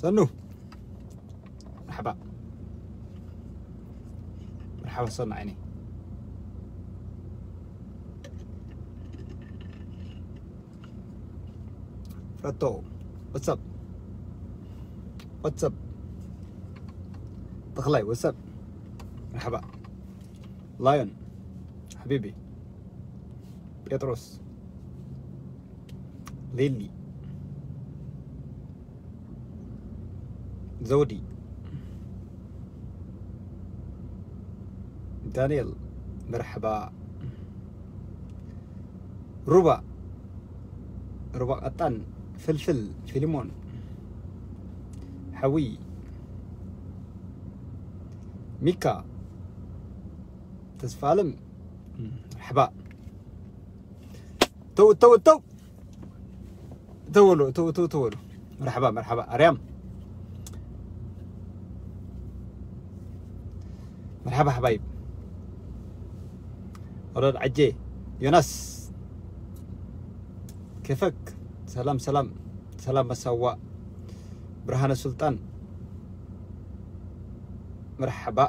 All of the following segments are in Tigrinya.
ሰኑ፣ መርሓባ። መርሓባ ሰኑ ዓይነይ። ፍረቶ፣ what's up? What's up? ተኽላይ፣ what's up? መርሓባ። ላዮን፣ ሓቢቢ። ጴጥሮስ፣ ሊሊ፣ ዘውዲ፣ ዳንኤል፣ መርሓባ። ሩባ፣ ሩባ ቀጣን፣ ፍልፍል፣ ፊልሞን፣ ሓዊ፣ ሚካ፣ ተስፋ ኣለም፣ መርሓባ። ተው፣ ተው፣ ተው። ተወሉ፣ ተው፣ ተው፣ ተወሉ። መርሓባ፣ መርሓባ። ኣርያም። መርሓባ ሓባይብ። ወለድ ዓጄ። ዮናስ። ከፈክ። ሰላም፣ ሰላም። ሰላም መሳዋ። ብርሃነ ሱልጣን። መርሓባ።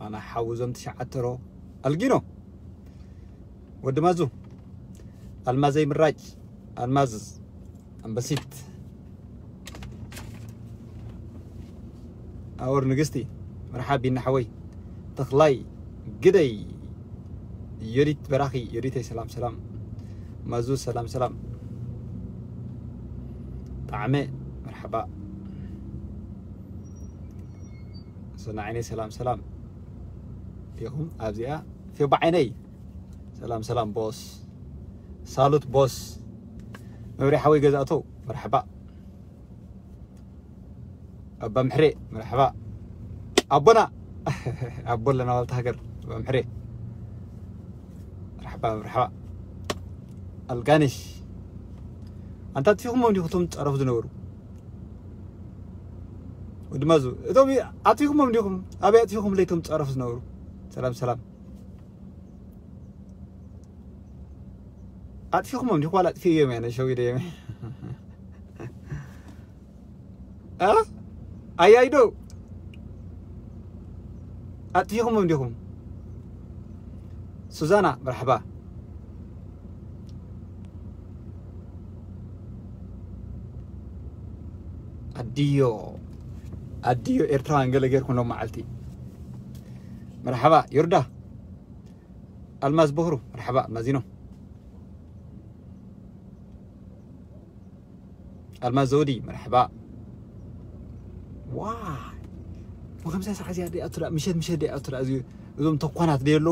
ኣና ሓውዞም ትሽዓተ ሮ። ኣልጊኖ። ወዲ ማዙ። ኣልማዘይ ምራጭ። ኣልማዝ ኣምበሲት። ኣወር ንግስቲ። መርሓብ ቢና ሓወይ። ተኽላይ ግደይ። ዮዲት በራኺ። ዮዲተይ ሰላም ሰላም። ማዙ ሰላም ሰላም። ጣዕመ መርሓባ። ሰና ዓይነይ ሰላም ሰላም። ዲኹም ኣብዚኣ ፌባ ዓይነይ። ሰላም ሰላም ቦስ። ሳሉት ቦስ። መብርያ ሓወይ ገዛእቶ። መርሓባ። ኣባ ምሕሬ። መርሓባ። ኣቦና። ኣቦ ኣለና ዋልታ ሃገር። ኣባ ምሕሬ። መርሓባ፣ መርሓባ። ኣልጋነሽ። ኣንታ ኣጥፊኹሞም ዲኹም እቶም ጸረፍ ዝነበሩ? ወዲ ማዙ። እቶም ኣጥፊኹሞም ዲኹም? ኣበይ ኣጥፊኹም ለይቶም ጸረፍ ዝነበሩ? ሰላም፣ ሰላም። ኣጥፊኹሞም ዲኹም? ዋላ ኣጥፊእዮም እየ፣ ነሸዊደዮም እየ። እ? ኣያይዶ? ኣጥፊኹሞም ዲኹም? ሱዛና፣ መርሓባ። ኣድዮ፣ ኣድዮ ኤርትራውያን ገለ ጌርኩም ሎም መዓልቲ። መርሓባ፣ ዮርዳ። ኣልማዝ በኽሩ፣ መርሓባ፣ ኣልማዚኖ። ኣልማዝ ዘውዲ፣ መርሓባ። ዋይ። ወከምሳ ሰዓት እዚኣ ደኣ ኣቱላ፣ ምሸት፣ ምሸት ደኣ ኣቱላ፣ እዚ፣ እዞም ተኳናት ደየሎ።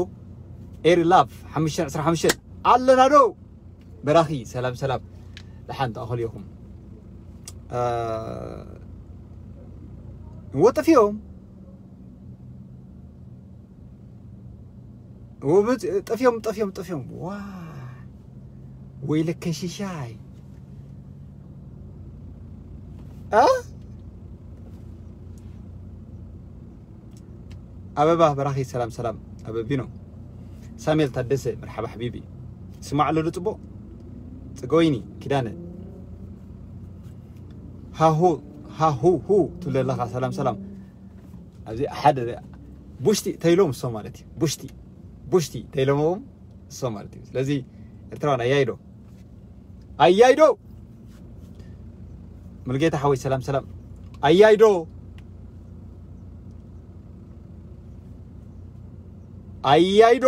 ኤሪ ላቭ፣ ሓሙሽተ ዕስራ ሓሙሽተ። ኣለና ዶ? በራኺ፣ ሰላም፣ ሰላም። ደሓን ተኣኸሉ ኢኹም። እ፣ ወጠፍ እዮም። ወብት-፣ ጠፍዮም፣ ጠፍዮም፣ ጠፍዮም። ዋ፣ ወይለከ ሽሻይ። እ? ኣበባ በራኺ፣ ሰላም፣ ሰላም። ኣበቢኖ። ሳሙኤል ታደሰ፣ መርሓባ ሓቢቢ። ስማዕ ኣሎ ዶ ጽቡቕ? ጽገወይኒ ኪዳነ። ሃሁ፣ ሃሁ፣ ሁ ትብል ኣለኻ። ሰላም፣ ሰላም። ኣብዚ ሓደ ቡሽቲ ተይሎም እሶ ማለት እዩ። ቡሽቲ፣ ቡሽቲ ተይሎምዎም እሶ ማለት እዩ። ስለዚ ኤርትራውያን ኣያይዶ፣ ኣያይዶ። ሙሉጌታ ሓወይ ሰላም ሰላም። ኣያይዶ፣ ኣያይዶ፣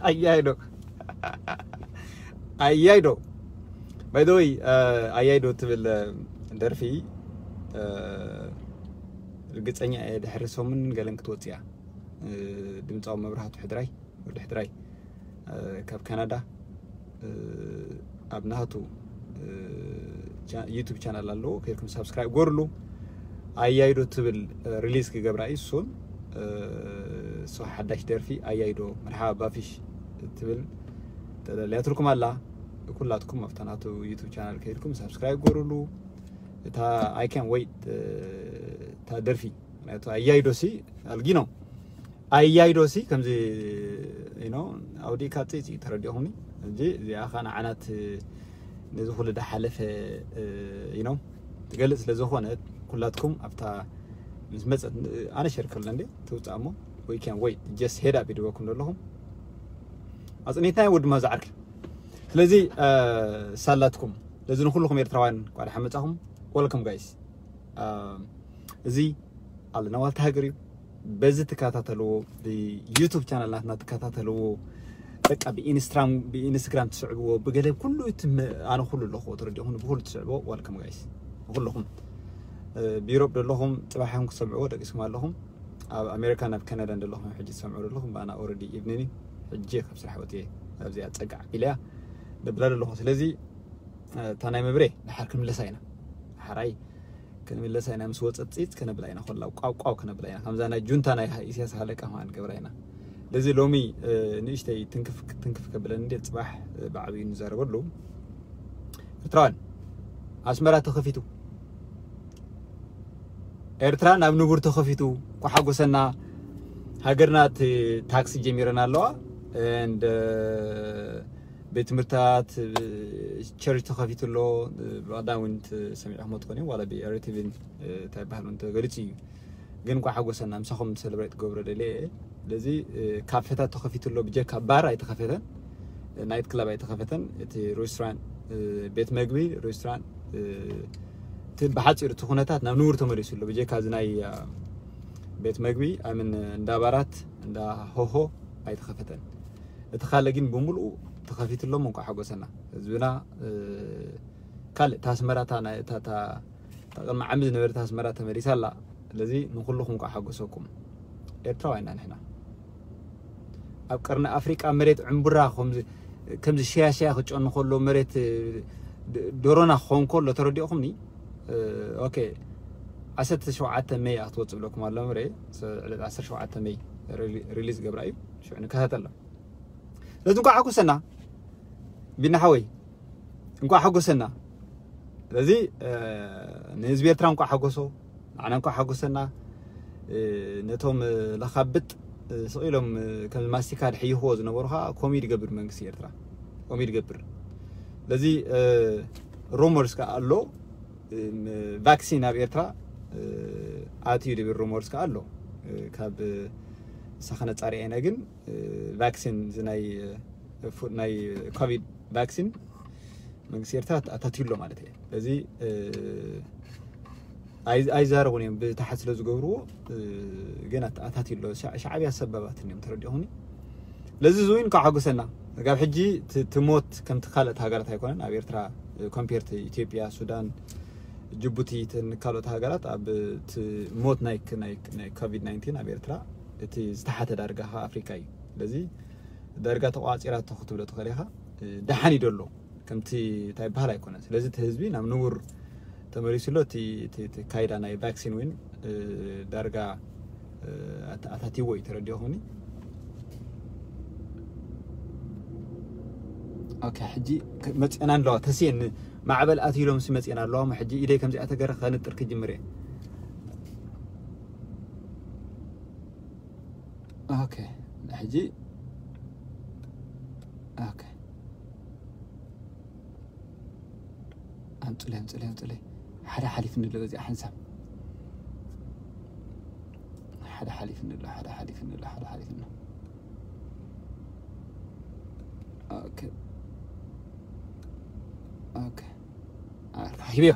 ኣያይዶ፣ ኣያይዶ። By the way፣ እ፣ ኣያይዶ ትብል፣ እ፣ ደርፊ፣ እ፣ ርግጸኛ እየ ድሕሪ ሰሙን ገለን ክትወጽእ እያ። እ፣ ድምጻዊ መብራህቱ ሕድራይ፣ ወዲ ሕድራይ፣ እ፣ ካብ ካናዳ፣ እ፣ ኣብ ናቱ፣ እ፣ ቻ-፣ ዩቱብ ቻናል ኣለዎ፣ ከይድኩም ሳብስክራይብ ጎርሉ። ኣያይዶ ትብል፣ እ፣ ሪሊዝ ክገብራ እዩ እሱን፣ እ፣ እሱ ሓዳሽ ደርፊ ኣያይዶ መርሓባ ባፊሽ ትብል ተደልያትልኩም ኣላ። ኩላትኩም ኣብታ ናቱ ዩቱብ ቻናል ከይድኩም ሳብስክራይብ ጎርሉ። እታ I can't wait፣ እ፣ እታ ደርፊ፣ ምክንያቱ ኣያይዶ ሲ ኣልጊኖ። ኣያይዶ ሲ ከምዚ፣ you know፣ ኣውዲእካ ጽይጽይ ተረዲኹምኒ። እንጂ እዚኣ ኸኣ ንዓናት ነዚ ኩሉ ዝሓለፈ you know ትገልጽ ስለ ዝኾነ ኩላትኩም ኣብታ ምስ መጸት ኣነ ሸር ከሎ እንዴ ትውጻእ እሞ we can wait just head up ይድበኩም ዘለኹም ኣጽኒትና ወድማ ዝዓርክ ስለዚ ሳላትኩም ለዚ ንኩልኩም ኤርትራውያን ቋዳ ሓመጻኹም welcome guys እዚ ኣለና ዋልታ ሃገር እዩ በዚ ትከታተልዎ ብዩቱብ ቻናል ናትና ትከታተልዎ በቃ ብኢንስትራም ብኢንስትግራም ትስዕብዎ ብገለ ኩሉ ኣነ ኩሉ ኣለኹ ትረዲኹም ብኩሉ ትስዕብዎ ዋልከም ጋይስ ኩልኹም ብዩሮፕ ዘለኹም ፅባሕም ክሰምዕዎ ደቂስኩም ኣለኹም ኣብ ኣሜሪካ ናብ ካናዳ ዘለኹም ሕጂ ትሰምዑ ዘለኹም ብኣና ኦረዲ ኢቭኒኒ ሕጂ ካብ ስራሕ ወፅየ ኣብዚኣ ፀጋዕ ቢለያ ደብላ ዘለኹ ስለዚ እታ ናይ መብሬ ድሓር ክንምለሳ ኢና ሓራይ ክንምለሳ ኢና ምስ ወፀት ፅፅ ከነብላ ኢና ኮላ ቋቋው ከነብላ ኢና ከምዛ ናይ ጁንታ ናይ ኢስያስ ሃለቃ ከማን ገብራ ኢና ለዚ ሎሚ ንእሽተይ ትንክፍ ትንክፍ ከብለን እንዴ ፅባሕ ብዓብዩ ንዛረበሉ ኤርትራውያን ኣስመራ ተኸፊቱ ኤርትራ ናብ ንቡር ተኸፊቱ ኳሓጎሰና ሃገርና ታክሲ ጀሚረን ኣለዋ and ቤት ትምህርታት ቸርች ተኸፊቱ ኣሎ ብቐዳም እውን ሰሚዕኹም ትኾኑ ዋላ ብኤርቲቪን እንታይ ይበሃል እውን ተገሊፁ እዩ ግን ኳ ሓጎሰና ምሳኹም ሰለብሬት ገብሮ ደልየ ስለዚ ካፌታት ተኸፊቱ ኣሎ ብጀካ ባር ኣይተኸፈተን ናይት ክለብ ኣይተኸፈተን እቲ ሬስቶራንት ቤት መግቢ ሬስቶራንት ብሓፂሩ እቲ ኩነታት ናብ ንቡር ተመሊሱ ኣሎ ብጀካ እዚ ናይ ቤት መግቢ ኣምን እንዳ ባራት እንዳ ሆሆ ኣይተኸፈተን እቲ ካልእ ግን ብምሉኡ ተኸፊትሎም እንኳ ሓጎሰና ህዝብና ካልእ ታስመራታ ቅድሚ ዓሚ ዝነበረት ኣስመራ ተመሊሳ ኣላ ስለዚ ንኩልኹም ኳ ሓጎሰኩም ኤርትራውያንና ንሕና ኣብ ቀርኒ ኣፍሪቃ መሬት ዕምቡራ ከምዚ ሽያሽያ ክጨኑ ከሎ መሬት ዶሮና ክኸውን ከሎ ተረዲኦኹምኒ ኦኬ ዓሰርተ ሸውዓተ መይ ክትወፅእ ብለኩም ኣሎ ምረ ዕለት ዓሰርተ ሸውዓተ መይ ሪሊዝ ገብራ እዩ ሽዑ ንከታተሎ ስለዚ እንኳዕ ሓጎሰና ቢና ሓወይ እንኳዕ ሓጎሰና ስለዚ ንህዝቢ ኤርትራ እንኳዕ ሓጎሶ ንዓና እንኳዕ ሓጎሰና ነቶም ለኻብጥ ስቕ ኢሎም ከም ማስቲካ ድሕይኽዎ ዝነበሩ ከዓ ኮሚ ድገብር መንግስቲ ኤርትራ ኮሚ ድገብር ስለዚ ሩመርስ ከዓ ኣሎ ቫክሲን ኣብ ኤርትራ ኣትዩ ድብል ሩመርስ ከዓ ኣሎ ካብ ሳኸነ ፃሪዐ ኢና ግን ቫክሲን ናይ ናይ ኮቪድ ቫክሲን መንግስቲ ኤርትራ ኣታትዩ ኣሎ ማለት እየ ስለዚ ኣይዛረቡን እዮም ብታሕት ስለ ዝገብርዎ ግን ኣታትዩ ኣሎ ሻዕብያ ሰባባት እዮም ተረዲኹኒ ስለዚ እዚ እውን ካብ ሓጎሰና ጋብ ሕጂ ትሞት ከምቲ ካልእቲ ሃገራት ኣይኮነን ኣብ ኤርትራ ኮምፔር ኢትዮጵያ ሱዳን ጅቡቲ ካልኦት ሃገራት ኣብ ሞት ናይ ኮቪድ ናይንቲን ኣብ ኤርትራ እቲ ዝተሓተ ዳርጋ ካብ ኣፍሪካ እዩ ስለዚ ዳርጋ ተቋፂራቶ ክትብሎ ትኽእል ኢኻ ደሓን እዩ ደሎ ከምቲ እንታይ ይበሃል ኣይኮነን ስለዚ እቲ ህዝቢ ናብ ንቡር ተመሊሱ ኣሎ እቲ ካይዳ ናይ ቫክሲን እውን ዳርጋ ኣታቲዎ እዩ ተረዲኦኹምኒ ኦኬ ሕጂ መፅአና ኣለዋ ተስየን ማዕበል ኣትይሎም ሲ መፅአና ኣለዋ ሕጂ ኢደይ ከምዚኣ ተገረ ከንጥር ክጅምር እየ ኦኬ ሕጂ ኦኬ ኣምፅለ ኣምፅለ ኣምፅለ ሓደ ሓሊፍ ንሎ በዚኣ ሓንሳብ ሓደ ሓሊፍ ንሎ ሓደ ሓሊፍ ንሎ ሓደ ሓሊፍ ንሎ ኦኬ ኦኬ ሂብዮ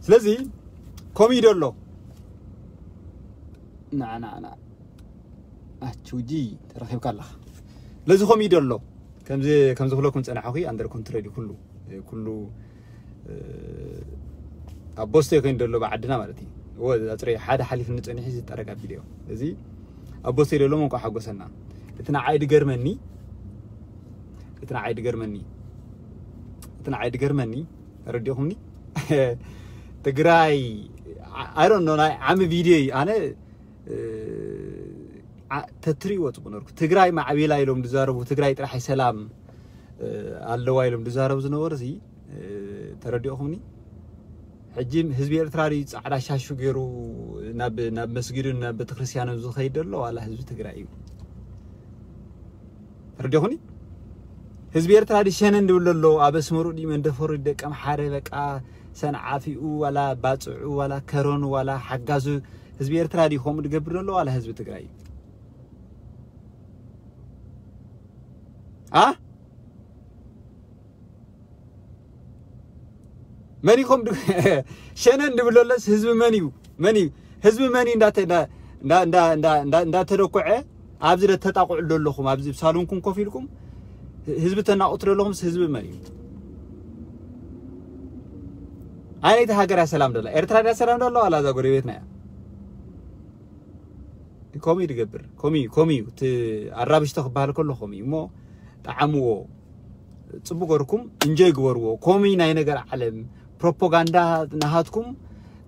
ስለዚ ኮሚዶ ኣሎ ንዓና ኣችውጂ ተረኺብካ ኣለኻ ስለዚ ኮሚዶ ኣሎ ከምዚ ከምዚ ክለኩም ፀናሕኹ ኣንደር ኮንትሮል ኩሉ ኩሉ ኣብ ቦስቶ ኮይኑ ዘሎ ብዓድና ማለት እዩ እዎ ኣፅረ ሓደ ሓሊፍ ንፀኒሑ ዝጠረግ ኣቢሉ እዮም እዚ ኣብ ቦስቶ ደሎ መንቋ ሓጎሰና እቲ ንዓይ ድገርመኒ እቲ ንዓይ ድገርመኒ እቲ ንዓይ ድገርመኒ ተረዲኹምኒ ትግራይ ኣሮኖ ናይ ዓሚ ቪድዮ እዩ ኣነ ተትሪእዎ ፅቡቅ ነርኩ ትግራይ ማዕቢላ ኢሎም ዝዛረቡ ትግራይ ጥራሕ ሰላም ኣለዋ ኢሎም ዝዛረቡ ዝነበሩ እዚ ተረዲኦኹምኒ ሕጂ ህዝቢ ኤርትራ ፃዕዳ ሻሹ ገይሩ ናብ መስጊዱ ናብ ቤተክርስትያኑ ዝኸይድ ዘሎ ዋላ ህዝቢ ትግራይ እዩ ተረዲኹኒ ህዝቢ ኤርትራ ድሸነ እንድብል ኣሎ ኣብ ኣስመሩ ድዩ መንደፈሩ ደቀም ሓደ በቃ ሰንዓፊኡ ዋላ ባፅዑ ዋላ ከረኑ ዋላ ሓጋዙ ህዝቢ ኤርትራ ድዩ ከምኡ ድገብር ዘሎ ዋላ ህዝቢ ትግራይ? አ መን ኢኹም ሸነን ድብለለስ ህዝቢ መን እዩ? መን እዩ ህዝቢ መን እዩ እንዳተደኮዐ ኣብዚ ተጣቁዑ ዘለኹም ኣብዚ ሳሎንኩም ኮፍ ኢልኩም ህዝቢ ተናቁት ዘለኹም ህዝቢ መን እዩ? ኣይነይቲ ሃገር እያ ሰላም ደላ ኤርትራ እያ ሰላም ደላ ዋላ እዛ ጎረቤትና እያ? ኮሚ ድገብር ኮሚ ኮሚ ኣራብሽቶ ክበሃል ከሎ ኮሚ እሞ ጠዓምዎ ጽቡቅ ገርኩም እንጆይ ግበርዎ። ኮሚ ናይ ነገር ዓለም ፕሮፓጋንዳ ናሃትኩም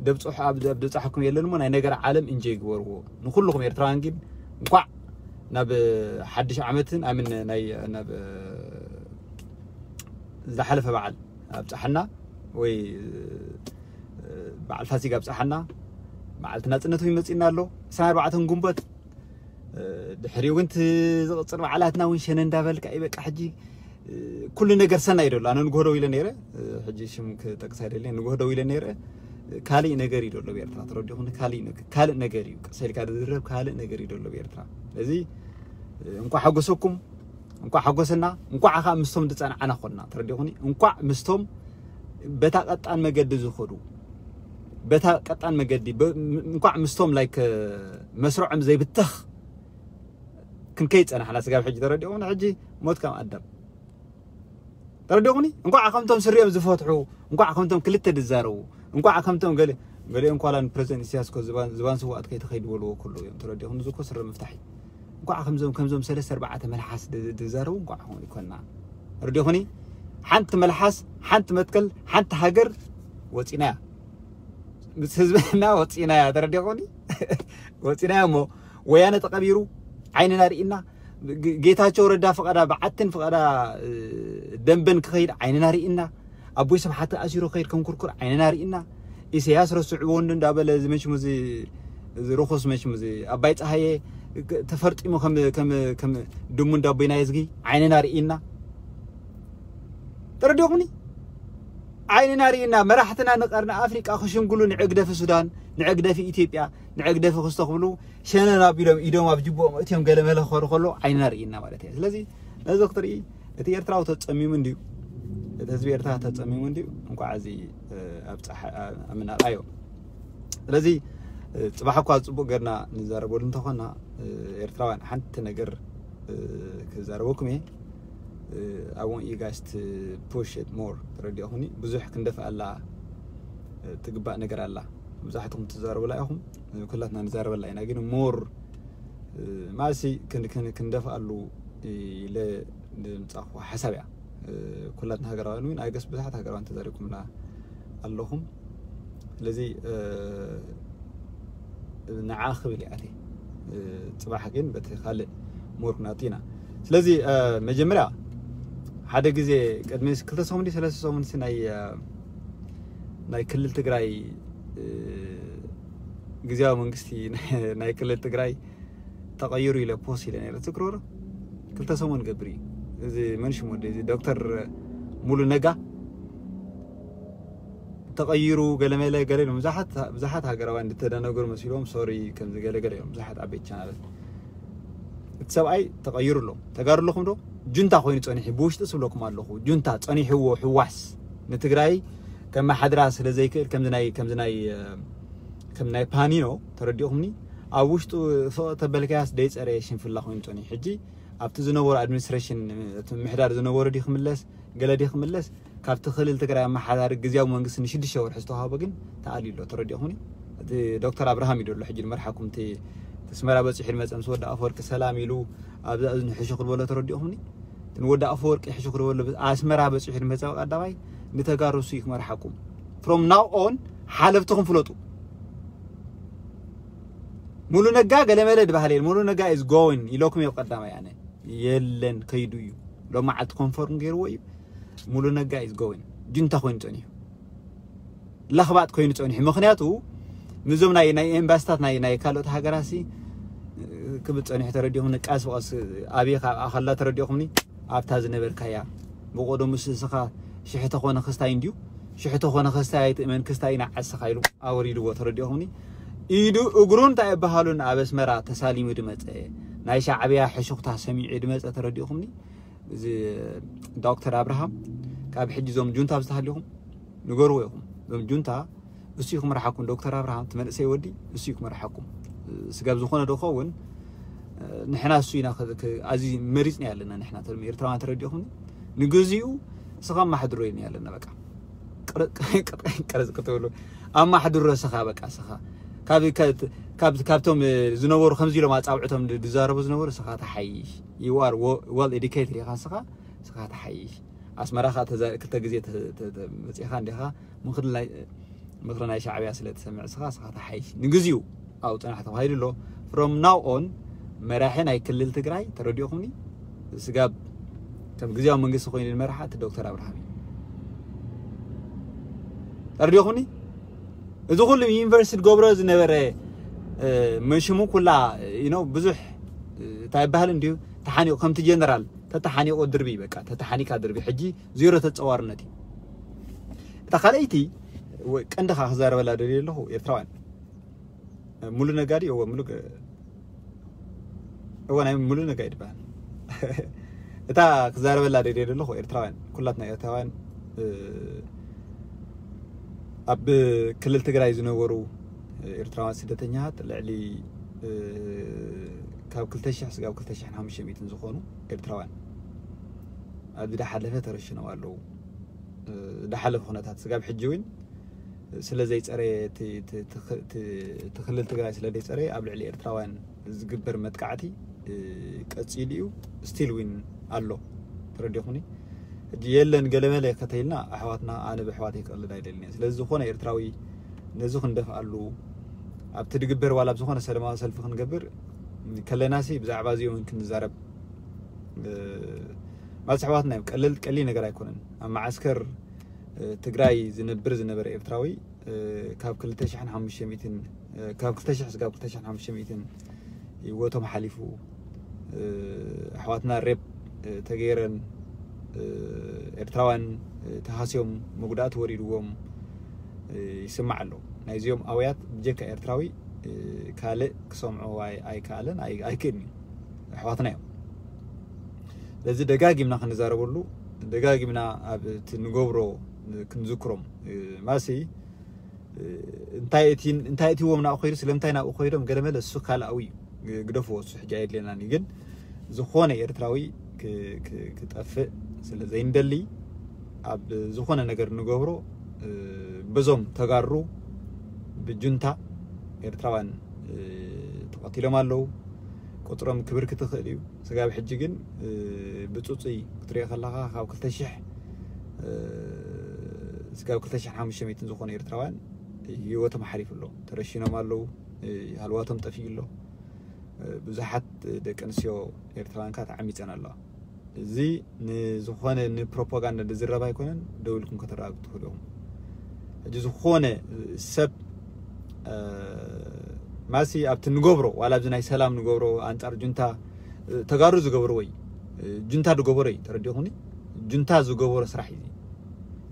ደብጽሑ ኣብ ደብጻሕኩም የለን እሞ ናይ ነገር ዓለም እንጆይ ግበርዎ። ንኩልኩም ኤርትራውያን ግን እንኳዕ ናብ ሓድሽ ዓመትን ኣምን ናይ ናብ ዝሓለፈ በዓል ኣብጽሓና ወይ በዓል ፋሲጋ ኣብጽሓና። በዓልቲ ናጽነት እውን መጺና ኣሎ። ዕስራን ኣርባዕተን ጉንበት ድሕሪኡ ግን ዝቕፅል በዓላትና እውን ሸነ እንዳበልካ እዩ በቃ ሕጂ ኩሉ ነገር ሰናይ ይደሉ ኣነ ንግሆ ደው ኢለ ነይረ። ሕጂ ሽም ክጠቅስ ኣይደለየ ንግሆ ደው ኢለ ነይረ። ካልእ ነገር እዩ ደሎ ብኤርትራ ተረዲኹኒ ካልእ ነገር እዩ ቅሰልካ ዝዝረብ ካልእ ነገር እዩ ደሎ ብኤርትራ። እዚ እንኳ ሓጎሰኩም እንኳ ሓጎሰና እንኳ ከዓ ምስቶም ዝፀንዓና ኮንና ተረዲኹኒ እንኳ ምስቶም በታ ቀጣን መገዲ ዝኸዱ በታ ቀጣን መገዲ እንኳዕ ምስቶም ላይክ መስርዖም ዘይብተኽ ክንከይ ጸናሕና ስጋብ ሕጂ ተረዲኹም ሕጂ ሞት ከም ኣዳም ተረዲኹኒ እንኳዕ ከምቶም ስሪኦም ዝፈትሑ እንኳዕ ከምቶም ክልተ ዝዛረቡ እንኳዕ ከምቶም ገለ ገሊኦም ኳላ ንፕረዚደንት ኢሳያስ ኮ ዝባን ዝባን ስዋኣት ከይተኸይድ በልዎ ኩሉ እዮም ተረዲኹም እዚ ኮ ስረ ምፍታሕ እዩ እንኳዕ ከምዞም ከምዞም ሰለስተ ኣርባዕተ መልሓስ ዝዛረቡ እንኳዕ ኾን ይኮና ተረዲኹኒ ሓንቲ መልሓስ ሓንቲ መትከል ሓንቲ ሃገር ወፂናያ ምስ ህዝብና ወፂናያ ተረዲኹኒ ወፂናያ እሞ ወያነ ተቐቢሩ ዓይንና ርኢና ጌታቸው ረዳ ፍቐዳ ብዓትን ፍቐዳ ደንበን ክኸይድ ዓይንና ርኢና ኣቦይ ስብሓት ኣሲሩ ከይድ ከም ኩርኩር ዓይንና ርኢና ኢሳያስ ረስዕዎ እንዶ እንዳበለ እዚ መሽሙ እዚ እዚ ርኹስ መሽሙ እዚ ኣባይ ፀሃየ ተፈርጢሙ ከም ከም ከም ድሙ እንዳቦይና የዝጊ ዓይንና ርኢና ተረዲኹምኒ ዓይንና ርኢና መራሕትና ንቀርኒ ኣፍሪቃ ክሽምግሉ ንዕግደፊ ሱዳን ንዕግደፊ ኢትዮጵያ ንዕግደፊ ክስተኽብሉ ሸነን ኣቢሎም ኢዶም ኣብ ጅቦኦም እትዮም ገለ መለ ክኸዱ ከሎ ዓይንና ርኢና ማለት እየ ስለዚ ነዚ ክትርኢ እቲ ኤርትራዊ ተጸሚሙ እንድዩ እቲ ህዝቢ ኤርትራ ተጸሚሙ እንድዩ እንኳዕ እዚ ኣብ ጸሓ ኣብ ምናልኣዮ ስለዚ ጽባሕ እኳ ጽቡቅ ገርና ንዛረበሉ እንተኾና ኤርትራውያን ሓንቲ ነገር ክዛረበኩም እየ I want you guys to push it more ተረዲኹኒ ብዙሕ ክንደፍኣላ ትግባእ ነገር ኣላ መብዛሕትኹም ትዛረቡላ ኢኹም ኩላትና ንዛረበላ ኢና ግን more ማሲ ክንደፍኣሉ ኢለ ንምፃኹ ሓሳብ እያ ኩላትና ሃገራውያን እውን ኣይገስ ብዙሓት ሃገራውያን ተዛሪብኩምና ኣለኹም ስለዚ ንዓ ክብል እያ ጽባሕ ግን በቲ ካልእ more ክንኣቱ ኢና ስለዚ መጀመርያ ሓደ ግዜ ቅድሚ ክልተ ሰሙን ሰለስተ ሰሙን ናይ ናይ ክልል ትግራይ ግዝያዊ መንግስቲ ናይ ክልል ትግራይ ተቐይሩ ኢለ post ኢለ ነይረ ትዝክርዎ ዶ ክልተ ሰሙን ገብር እዩ እዚ መን ሽሙ እዚ ዶክተር ሙሉ ነጋ ተቐይሩ ገለመለ ገለ ኢሎም ብዙሓት ብዙሓት ሃገራውያን ዝተደነገሩ መሲሎም sorry ከምዚ ገለ ገለ እዮም ብዙሓት ዓበይቲ ቻናላት እቲ ሰብኣይ ተቐይሩ ኣሎ ተጋሩ ኣለኹም ዶ ጁንታ ኮይኑ ጸኒሑ ብውሽጢ ስብለኩም ኣለኹ ጁንታ ጸኒሕዎ ሕዋስ ንትግራይ ከመሓድራ ስለ ዘይክእል ከምዚ ናይ ከምዚ ናይ ከም ናይ ፓኒኖ ተረዲኹምኒ ኣብ ውሽጡ ፍቕ ተበልካያስ ደይፀረየ ሽንፍላ ኮይኑ ጸኒሑ ሕጂ ኣብቲ ዝነበሩ administration ምሕዳር ዝነበሩ ዲ ክምለስ ገለ ዲ ክምለስ ካብቲ ክልል ትግራይ ኣመሓዳሪ ግዝያዊ መንግስቲ ንሽዱሽተ ወርሒ ዝተዋሃቦ ግን ተኣልዩ ኣሎ ተረዲኹምኒ እቲ ዶክተር ኣብርሃም እዩ ደሎ ሕጂ ንመርሓኩም እቲ ኣስመራ በፂሑ ንመፀ ምስ ወዲ ኣፈወርቂ ሰላም ኢሉ ኣብዛ እዝኒ ሕሹ ክድበሎ ተረዲኹምኒ እቲ ንወዲ ኣፈወርቂ ሕሹ ክድበሎ ኣስመራ በፂሑ ንመፀ ቀዳማይ ንተጋሩ እሱ እዩ ክመርሓኩም from now on ሓለፍትኹም ፍለጡ ሙሉ ነጋ ገለመለ ድባሃል የለ ሙሉ ነጋ is going ኢለኩም እየ ቀዳማይ ኣነ የለን ከይዱ እዩ ሎም መዓልቲ confirm ገይርዎ እዩ ሙሉ ነጋ is going ጁንታ ኮይኑ ጸኒሑ ለኽባጥ ኮይኑ ጸኒሑ ምክንያቱ ምዞም ናይ ናይ ኤምባስታት ናይ ናይ ካልኦት ሃገራት ሲ ክብል ጸኒሑ ተረዲኹም ንቃስ ብቐስ ኣብይ ካብ ኣኸላ ተረዲኹምኒ ኣብታ ዝነበርካያ። ብቐደሙ ንስኻ ሽሕተ ኮነ ክስታይ እንድዩ፣ ሽሕተ ኮነ ክስታይ ኣይትእመን፣ ክስታይ ኢና ዓስኻ ኢሉ ኣወሪድዎ። ተረዲኦኹምኒ? ኢዱ እግሩ እንታይ ይበሃሉን ኣብ ኣስመራ ተሳሊሙ ድመፀ፣ ናይ ሻዕብያ ሕሹኽታ ሰሚዑ ድመፀ። ተረዲኦኹምኒ? እዚ ዶክተር ኣብርሃም ካብ ሕጂ እዞም ጁንታ ብዝተሃሊኹም ንገርዎ ኢኹም። እዞም ጁንታ እሱ እዩ ክመርሓኩም። ዶክተር ኣብርሃም ትመንእሰይ ወዲ እሱ እዩ ክመርሓኩም። ስጋብ ዝኾነ ዶ ኸውን ንሕና እሱ ኢና ኣዚ መሪፅና ያለና ንሕና ተም ኤርትራውያን። ተረዲኹም? ንግዚኡ ስኻ ማሕድሮ ኢና ያለና። በቃ ቅርጽ ክትብሉ ኣማሕድሮ ስኻ በቃ ስኻ ካብቶም ዝነበሩ ከምዚ ኢሎም ኣጻውዕቶም ዝዛረቡ ዝነበሩ ስኻ ተሓይሽ። You are well educated ኢኻ ስኻ ስኻ ተሓይሽ። ኣስመራ ኸዓ ክልተ ግዜ መፂኻ እንዲኻ ምኽሪ ናይ ሻዕብያ ስለ ትሰምዕ ስኻ ስኻ ተሓይሽ። ንግዚኡ ኣብኡ ፅናሕ ተባሂሉ ኣሎ። From now on መራሒ ናይ ክልል ትግራይ ተረዲኦኹምኒ? ስጋብ ከም ግዜያዊ መንግስቲ ኮይኑ ዝመርሓ እቲ ዶክተር ኣብርሃም እዩ። ተረዲኦኹምኒ? እዚ ኩሉ ዩኒቨርሲቲ ገብሮ ዝነበረ መሽሙ ኩላ ብዙሕ እንታይ ይበሃል እንዲዩ ተሓኒቑ ከምቲ ጀነራል ተተሓኒቑ ድርቢ በቃ ተተሓኒካ ድርቢ ሕጂ ዜሮ ተፀዋርነት እዩ። እታ ካልኣይቲ ቀንድኻ ክዛረበላ ደልየ ኣለኹ ኤርትራውያን ሙሉ ነጋዲ እወ ሙሉ እወ ናይ ሙሉ ነጋዲ ይበሃል። እታ ክዛረበላ ደልየ ዘለኹ ኤርትራውያን ኩላትና ኤርትራውያን ኣብ ክልል ትግራይ ዝነበሩ ኤርትራውያን ስደተኛታት ልዕሊ ካብ ክልተ ሽሕ ስጋብ ክልተ ሽሕን ሓሙሽተ ሚእትን ዝኾኑ ኤርትራውያን ኣብዚ ዳሓለፈ ተረሽኖም ኣለዉ። ዳሓለፈ ኩነታት ስጋብ ሕጂ እውን ስለ ዘይፀረየ እቲ ክልል ትግራይ ስለ ዘይፀረየ ኣብ ልዕሊ ኤርትራውያን ዝግበር መጥቃዕቲ ቀፂሉ እዩ። ስቲል ዊን ኣሎ። ተረዲኹኒ? ሕጂ የለን ገለመለ ከተይልና ኣሕዋትና ኣነ ብኣሕዋተይ ክቐልድ ኣይደልን እየ። ስለዚ ዝኾነ ኤርትራዊ ነዚ ክንደፍኣሉ ኣብቲ ድግበር ዋላ ብዝኾነ ሰለማዊ ሰልፊ ክንገብር ከለናሲ ብዛዕባ እዚኦም ክንዛረብ ማለት ኣሕዋትና እዮም። ቀለል ቀሊል ነገር ኣይኮነን። ኣብ መዓስከር ትግራይ ዝነብር ዝነበረ ኤርትራዊ ካብ ክልተ ሽሕን ሓሙሽተ ሚእትን ካብ ክልተ ሽሕ ስጋብ ክልተ ሽሕን ሓሙሽተ ሚእትን ህይወቶም ሓሊፉ ኣሕዋትና ሬፕ ተገይረን ኤርትራውያን ተሃስዮም መጉዳእቲ ወሪድዎም ይስማዕ ኣሎ። ናይዚኦም ኣውያት ብጀካ ኤርትራዊ ካልእ ክሰምዖ ኣይከኣለን ኣይክእልን እዩ። ኣሕዋትና እዮም። ስለዚ ደጋጊምና ክንዛረበሉ ደጋጊምና ኣብ እቲ ንገብሮ ክንዝክሮም ማሲ እንታይ እቲዎም ናብኡ ከይዱ ስለምንታይ ናብኡ ከይዶም ገለመለ እሱ ካልኣዊ እዩ። ግደፍዎ እሱ ሕጂ ኣየድልየናን እዩ። ግን ዝኾነ ኤርትራዊ ክጠፍእ ስለ ዘይንደሊ ኣብ ዝኾነ ነገር ንገብሮ በዞም ተጋሩ ብጁንታ ኤርትራውያን ተቐቲሎም ኣለዉ። ቁፅሮም ክብር ክትኽእል እዩ። ስጋብ ሕጂ ግን ብፁፁይ ክትሪኦ ከለኻ ካብ ክልተ ሽሕ ስጋብ ክልተ ሽሕ ሓሙሽተ ሚእትን ዝኾኑ ኤርትራውያን ህይወቶም ሓሊፉ ኣሎ። ተረሺኖም ኣለዉ። ሃልዋቶም ጠፊኡ ኣሎ። ብዙሓት ደቂ ኣንስትዮ ኤርትራውያን ከዓ ተዓሚፀን ኣለዋ። እዚ ንዝኾነ ንፕሮፓጋንዳ ዝዝረብ ኣይኮነን። ደው ኢልኩም ከተረጋግጡ ትኽእሉ ኢኹም። ሕጂ ዝኾነ ሰብ ማሲ ኣብቲ ንገብሮ ዋላ ኣብዚ ናይ ሰላም ንገብሮ ኣንፃር ጁንታ ተጋሩ ዝገብርዎ እዩ። ጁንታ ዝገበሮ እዩ። ተረዲኹኒ? ጁንታ ዝገበሮ ስራሕ እዩ።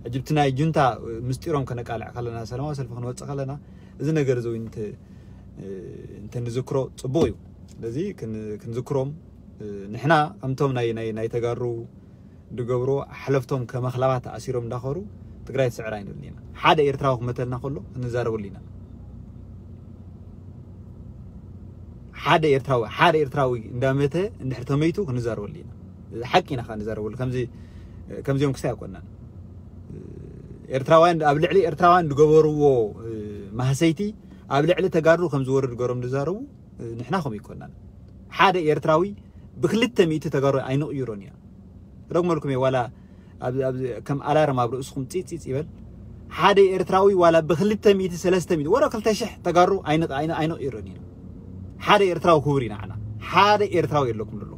ሕጂ ብቲ ናይ ጁንታ ምስጢሮም ከነቃልዕ ከለና ሰላማዊ ሰልፊ ክንወፅእ ከለና እዚ ነገር እዚ እንተ ንዝክሮ ፅቡቕ እዩ። ስለዚ ክንዝክሮም ንሕና ከምቶም ናይ ተጋሩ ዝገብርዎ ሓለፍቶም ከመኽላባት ተኣሲሮም እንዳኸሩ ትግራይ ትስዕር ኣይንብልን ኢና። ሓደ ኤርትራዊ ክመተልና ከሎ ክንዛረበሉ ኢና። ሓደ ኤርትራዊ ሓደ ኤርትራዊ እንዳመተ እንድሕር ተመይቱ ክንዛረበሉ ኢና። ሓቂ ኢና ከዓ ንዛረበሉ። ከምዚ ከምዚኦም ክስታይ ኣይኮናን። ኤርትራውያን ኣብ ልዕሊ ኤርትራውያን ዝገበርዎ ማህሰይቲ ኣብ ልዕሊ ተጋሩ ከም ዝወርድ ገሮም ዝዛረቡ ንሕና ከም ይኮናን። ሓደ ኤርትራዊ ብክልተ ሚእቲ ተጋሩ ኣይንቕይሮን ኢና። ረግመልኩም እየ ዋላ ከም ኣላርም ኣብ ርእስኹም ፂፂፅ ይበል። ሓደ ኤርትራዊ ዋላ ብክልተ ሚእቲ ሰለስተ ሚእቲ ወረ ክልተ ሽሕ ተጋሩ ኣይንቕይሮን ኢና። ሓደ ኤርትራዊ ክቡር ኢና ዓና ሓደ ኤርትራዊ የለኩም ዘሎ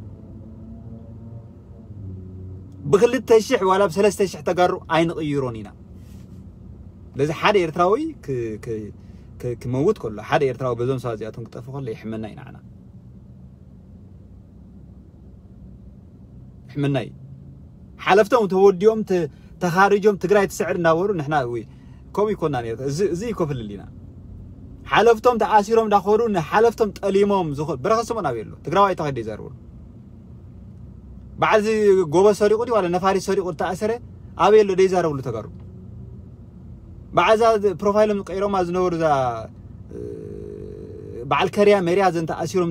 ብክልተ ሽሕ ዋላ ብሰለስተ ሽሕ ተጋሩ ኣይንቕይሮን ኢና። ስለዚ ሓደ ኤርትራዊ ክመውት ከሎ ሓደ ኤርትራዊ በዞም ሰባት እዚኣቶም ክጠፍ ከሎ ይሕመና ኢና ዓና። ሕመናይ ሓለፍቶም ተወዲኦም ተ- ተኻሪጆም ትግራይ ትስዕር እናበሩ ንሕና ወይ ከምኡ ይኮና ነይሩ። እዚ እዚ ይኮፍልል ኢና። ሓለፍቶም ተኣሲሮም እንዳኸዱ ንሓለፍቶም ጠሊሞም ዝኾ ብረኸ ስምኦን ኣበይ ኣሎ? ትግራዋይ ተኸዲ ይዛረብሉ። በዓል እዚ ጎበዝ ሰሪቑ ድዩ ዋላ ነፋሪት ሰሪቑ ተኣሰረ ኣበይ ኣሎ? ደይዛረብሉ ተጋሩ። በዓል እዛ ፕሮፋይሎም ቀይሮማ ዝነበሩ እዛ በዓል ከርያ መርያ ዘን ተኣሲሮም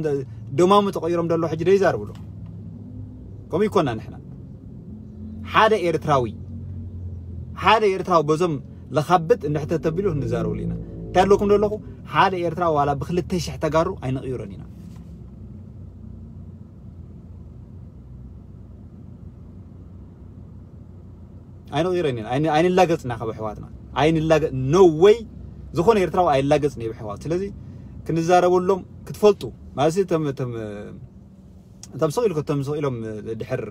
ደማሙ ተቐይሮም ደሎ ሕጂ ደይዛረብሉ። ከምኡ ይኮና ንሕና። ሓደ ኤርትራዊ ሓደ ኤርትራዊ በዞም ለኻብጥ እንድሕተ ተቢሉ ክንዛረብሉ ኢና። እንታይ ኣለኩም ደለኹ? ሓደ ኤርትራዊ ዋላ ብክልተ ሽሕ ተጋሩ ኣይንቕይሮን ኢና። ኣይንቕይረን ኢና። ኣይን- ኣይንላገጽና ካብ ኣሕዋትና። ኣይንላገ no way ዝኾነ ኤርትራዊ ኣይላገጽን እዩ ብሕዋት። ስለዚ ክንዛረበሎም ክትፈልጡ ማለት እቶም እቶም እቶም ስቕ ኢሉ እቶም ስቕ ኢሎም ድሕር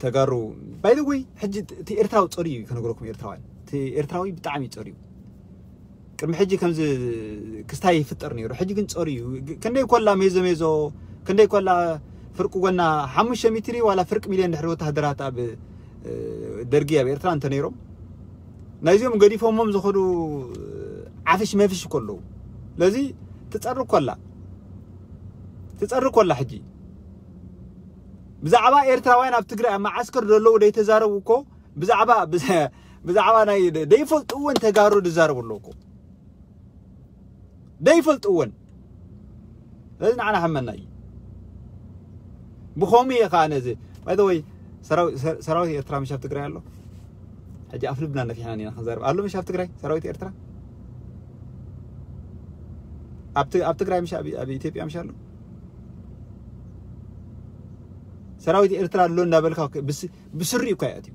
ተጋሩ by the way ሕጂ እቲ ኤርትራዊ ጸሩ እዩ ከነግረኩም ኤርትራውያን እቲ ኤርትራዊ ብጣዕሚ ጸሩ እዩ። ቅድሚ ሕጂ ከምዚ ክስታይ ይፍጠር ነይሩ። ሕጂ ግን ጸሩ እዩ። ክንደይ ኮላ ሜዞ ሜዞ ክንደይ ኮላ ፍርቂ ጎና ሓሙሽተ ሚትሪ ዋላ ፍርቂ ሚልዮን ድሕሪ ወታሃደራት ኣብ ደርጊ ኣብ ኤርትራ እንተ ነይሮም ናይዚኦም ገዲፎሞም ዝኸዱ ዓፍሽ መፍሽ እኮ ኣለዉ። ስለዚ ትጸሪ ኮላ ትጸሪ ኮላ ሕጂ ብዛዕባ ኤርትራውያን ኣብ ትግራይ ኣብ መዓስከር ዘለዉ ደይተዛረቡ እኮ ብዛዕባ ብዛዕባ ናይ ደይፈልጥወን ተጋሩ ዝዛረቡ ኣለዉ እኮ ደይፈልጥወን። ስለዚ ንዓና ሓመና እዩ። ብኸምኡ እየ ከዓ ነዚ by the way ሰራዊት ኤርትራ ምሽ ኣብ ትግራይ ኣሎ። ሕጂ ኣፍልብና ነፊሕና ኢና ክንዛረብ ኣሎ ምሽ ኣብ ትግራይ ሰራዊት ኤርትራ ኣብ ትግራይ ምሽ ኣብ ኢትዮጵያ ምሽ ኣሎ። ሰራዊት ኤርትራ ኣሎ እንዳበልካ ብስሪ እኳ ይኣትዩ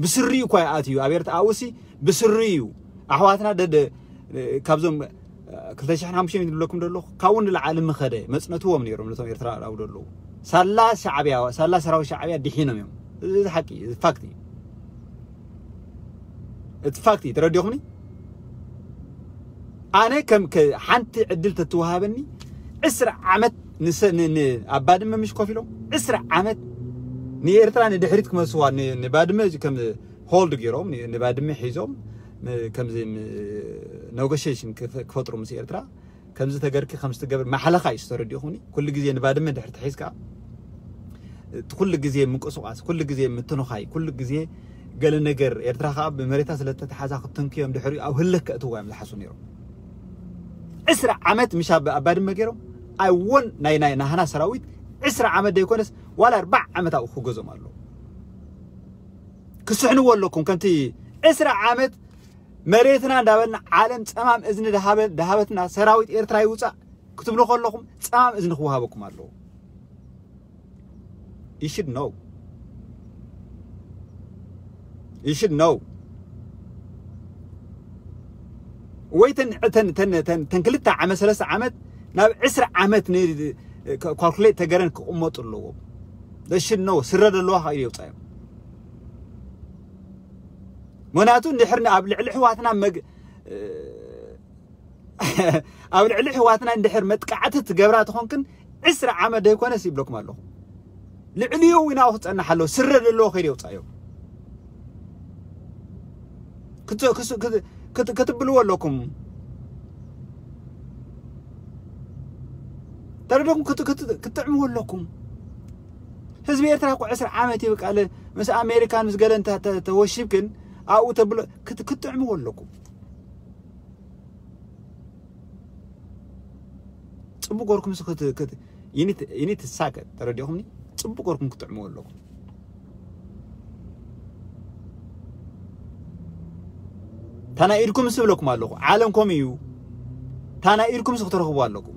ብስሪ እኳ ይኣትዩ ኣብ ኤርትራ ኣውሲ ብስሪ እዩ ኣሕዋትና ደደ ካብዞም ክልተ ሽሕን ሓሙሽተን ዝብለኩም ደለኹ ካብኡ ንላዓሊ ምኸደ መፅነትዎም ነይሮም ነቶም ኤርትራ ኣብ ደለዉ ሳላ ሻዕብያ ሳላ ሰራዊት ሻዕብያ ድሒኖም እዮም እዚ ሓቂ እዩ ፋክት እዩ እቲ ፋክት እዩ ተረዲኹምኒ ኣነ ከም ሓንቲ ዕድል ተትወሃበኒ ዕስራ ዓመት ኣብ ባድመ ምሽ ኮፍ ኢሎም ዕስራ ዓመት ንኤርትራ ንድሕሪት ክመልስዋ ንባድመ ከም hold ገይሮም ንባድመ ሒዞም ከምዚ negotiation ክፈጥሩ ምስ ኤርትራ ከምዚ ተገርኪ ከምዚ ትገብር ማሕለኻ እዩ ዝተረዲኹኒ ኩሉ ግዜ ንባድመ ድሕሪ ተሒዝካ ኩሉ ግዜ ምንቅስቃስ ኩሉ ግዜ ምትንኻይ ኩሉ ግዜ ገለ ነገር ኤርትራ ከዓ ብመሬታ ስለተተሓዛ ክትንክዮም ድሕሪኡ ኣብ ህልክ ከእትዋ እዮም ዝሓስቡ ነይሮም ዕስራ ዓመት ምሽ ኣብ ባድመ ገይሮም ኣይወን ናይ ናይ ናህና ሰራዊት ዕስራ ዓመት ዘይኮነስ ዋላ ኣርባዕ ዓመት ኣብኡ ክገዞም ኣለዉ ክስሕንዎ ኣለኩም ከምቲ ዕስራ ዓመት መሬትና እንዳበልና ዓለም ፀማም እዝኒ ድሃበትና ሰራዊት ኤርትራ ይውፃእ ክትብሉ ከለኹም ጻም እዝኒ ክወሃበኩም ኣለዎ you should know you should know ወይ ተን ተን ተን ተን ክልተ ዓመት ሰለስተ ዓመት ናብ ዕስራ ዓመት ን calculate ተገረን ክቕመጡ ኣለዎም they should know ስረ ዘለዋ ከይዱ የውፃዮም ምክንያቱ እንድሕር ኣብ ልዕሊ ኣሕዋትና ኣብ ልዕሊ ኣሕዋትና እንድሕር መጥቃዕቲ ትገብራ ተኾንክን ዕስራ ዓመት ዘይኮነስ ይብለኩም ኣለኹ ልዕሊኡ እውን ኣብኡ ክፀንሕ ኣለዎ ስረ ዘለዎ ከይደ የውፃዮ ክትብልዎ ኣለኩም ተረደኩም ክትጥዕምዎ ኣለኩም ህዝቢ ኤርትራ እኮ ዕስራ ዓመት እዩ በቃ ምስ ኣሜሪካን ምስ ገለን ተወሺብክን ኣብኡ ተብሎ ክትጥዕምዎ ኣለኩም ፅቡቅ ገርኩም ይኒ ትሳከ ተረዲኹምኒ ፅቡቅ ገርኩም ክትጥዕምዎ ኣለኩም ታና ኢድኩም ስብለኩም ኣለኹ ዓለም ከም እዩ ታና ኢድኩም ክትረኽቡ ኣለኩም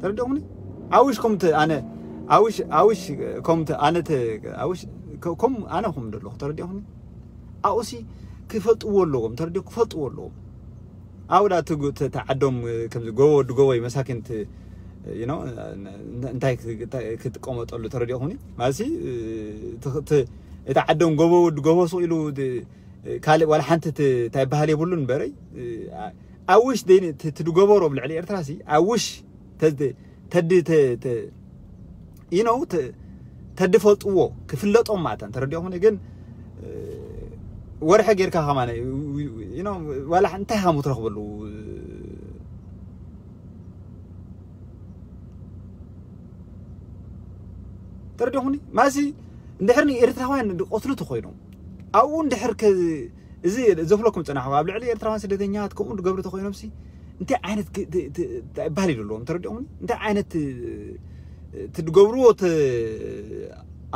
ተረዲኹምኒ ኣውሽ ከምቲ ኣነ ኣውሽ ኣውሽ ከምቲ ኣነ ኣውሽ ከም ኣነ ከም ደለኹ ተረዲኹምኒ ኣውሲ ክፈልጥዎ ኣለዎም ተረዲኹ ክፈልጥዎ ኣለዎም ኣውዳ ተዓዶም ከምዚ ጎቦ ወዲ ጎቦ መሳኪን you know፣ እንታይ ክጥቀመጠሉ ተረዲኹኒ ማለት እቲ ዓዶም ጎቦ ወዲ ጎቦ ሱቕ ኢሉ ካልእ ዋላ ሓንቲ እንታይ በሃል የብሉን በረይ ኣውሽ ትድገበሮ ብልዕሊ ኤርትራ ሲ ኣውሽ ተዲ you know፣ ተድፈልጥዎ ክፍለጦም ማእታ ተረዲኹኒ ግን ወርሐ ጌርካ ከማነ ዋላ እንታይ ሃሙ ትረኽበሉ ተረዲኹኒ ማሲ እንድሕር ንኤርትራውያን ቆትሉ ተኮይኖም ኣብኡ እንድሕር እዚ ዘፍለኩም ፅናሕኹ ኣብ ልዕሊ ኤርትራውያን ስደተኛታት ከምኡ ዝገብሩ ተኮይኖም ሲ እንታይ ዓይነት ባህል ይደለዎም ተረዲኹኒ እንታይ ዓይነት ትድገብርዎ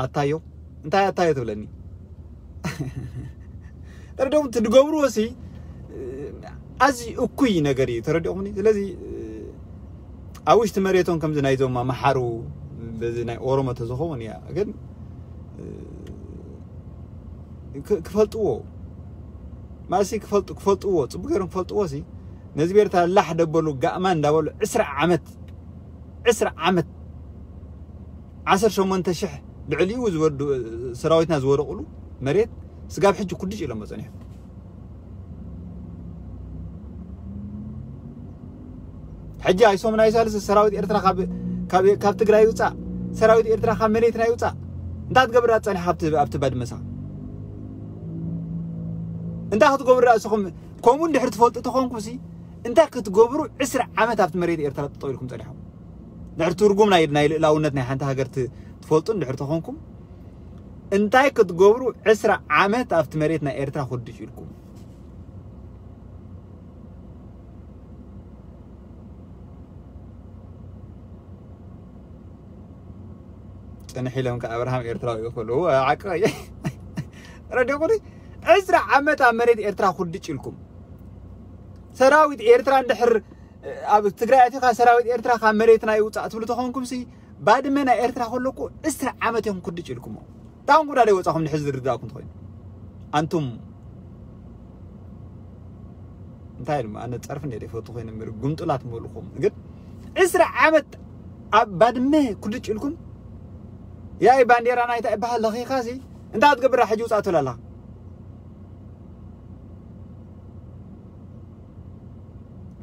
ኣታዮ እንታይ ኣታዮ ትብለኒ ተረዲኹም ትድገብርዎ ሲ ኣዚ እኩይ ነገር እዩ ተረዲኹምኒ ስለዚ ኣብ ውሽጢ መሬቶም ከምዚ ናይዞም ኣምሓሩ በዚ ናይ ኦሮሞ ተዝኸውን እያ ግን ክፈልጥዎ ማእሲ ክፈልጡ ክፈልጥዎ ፅቡቅ ገይሮም ክፈልጥዎ ሲ ነዚ ቤርታ ላሕ ደበሉ ጋእማ እንዳበሉ ዕስራ ዓመት ዕስራ ዓመት ዓሰርተ ሸሞንተ ሽሕ ልዕሊኡ ዝወዱ ሰራዊትና ዝወደቕሉ መሬት ስጋብ ሕጂ ኩድጭ ኢሎሞ ጸኒሑ ሕጂ ኣይሶም ናይ ሳልስ ሰራዊት ኤርትራ ካብ ትግራይ ይውፃእ ሰራዊት ኤርትራ ካብ መሬትና ይውፃእ እንታይ ትገብር ጸኒሕ ኣብቲ ባድመሳ እንታይ ክትገብሩ ርእስኹም ከምኡ እንድሕር ትፈልጡ ተኾንኩም ሲ እንታይ ክትገብሩ ዕስራ ዓመት ኣብቲ መሬት ኤርትራ ጠጠው ኢልኩም ጸኒሖም ድሕር ትርጉም ናይ ናይ ልእላውነት ናይ ሓንቲ ሃገር ትፈልጡ እንድሕር ተኾንኩም እንታይ ክትገብሩ ዕስራ ዓመት ኣብቲ መሬት ናይ ኤርትራ ኩድሽ ኢልኩም ጽንሕ ኢሎም ከ ኣብርሃም ኤርትራዊ እዩ ከለዉ ዓቀ ረዲኹኒ ዕስራ ዓመት ኣብ መሬት ኤርትራ ኩድጭ ኢልኩም ሰራዊት ኤርትራ እንድሕር ኣብ ትግራይ ኣቲኻ ሰራዊት ኤርትራ ካብ መሬትና ይውፃእ ትብሉ ተኾንኩም ሲ ባድመ ናይ ኤርትራ ከለኩ ዕስራ ዓመት ኢኹም ኩድጭ ኢልኩሞ ታውን ጉዳ ደይወፃኹም ንሕዚ ዝርዳእኩም ትኾይኑ ኣንቱም እንታይ ድማ ኣነ ፀርፊ እንደ ይፈቱ ኮይነ ምር ጉምጥላት ምበልኹም ግን ዕስራ ዓመት ኣብ ባድመ ኩድጭ ኢልኩም ያይ ባንዴራ ናይታ ይበሃል ለኺኻሲ እንታይ ትገብራ ሕጂ ውፃእ ትብል ኣላ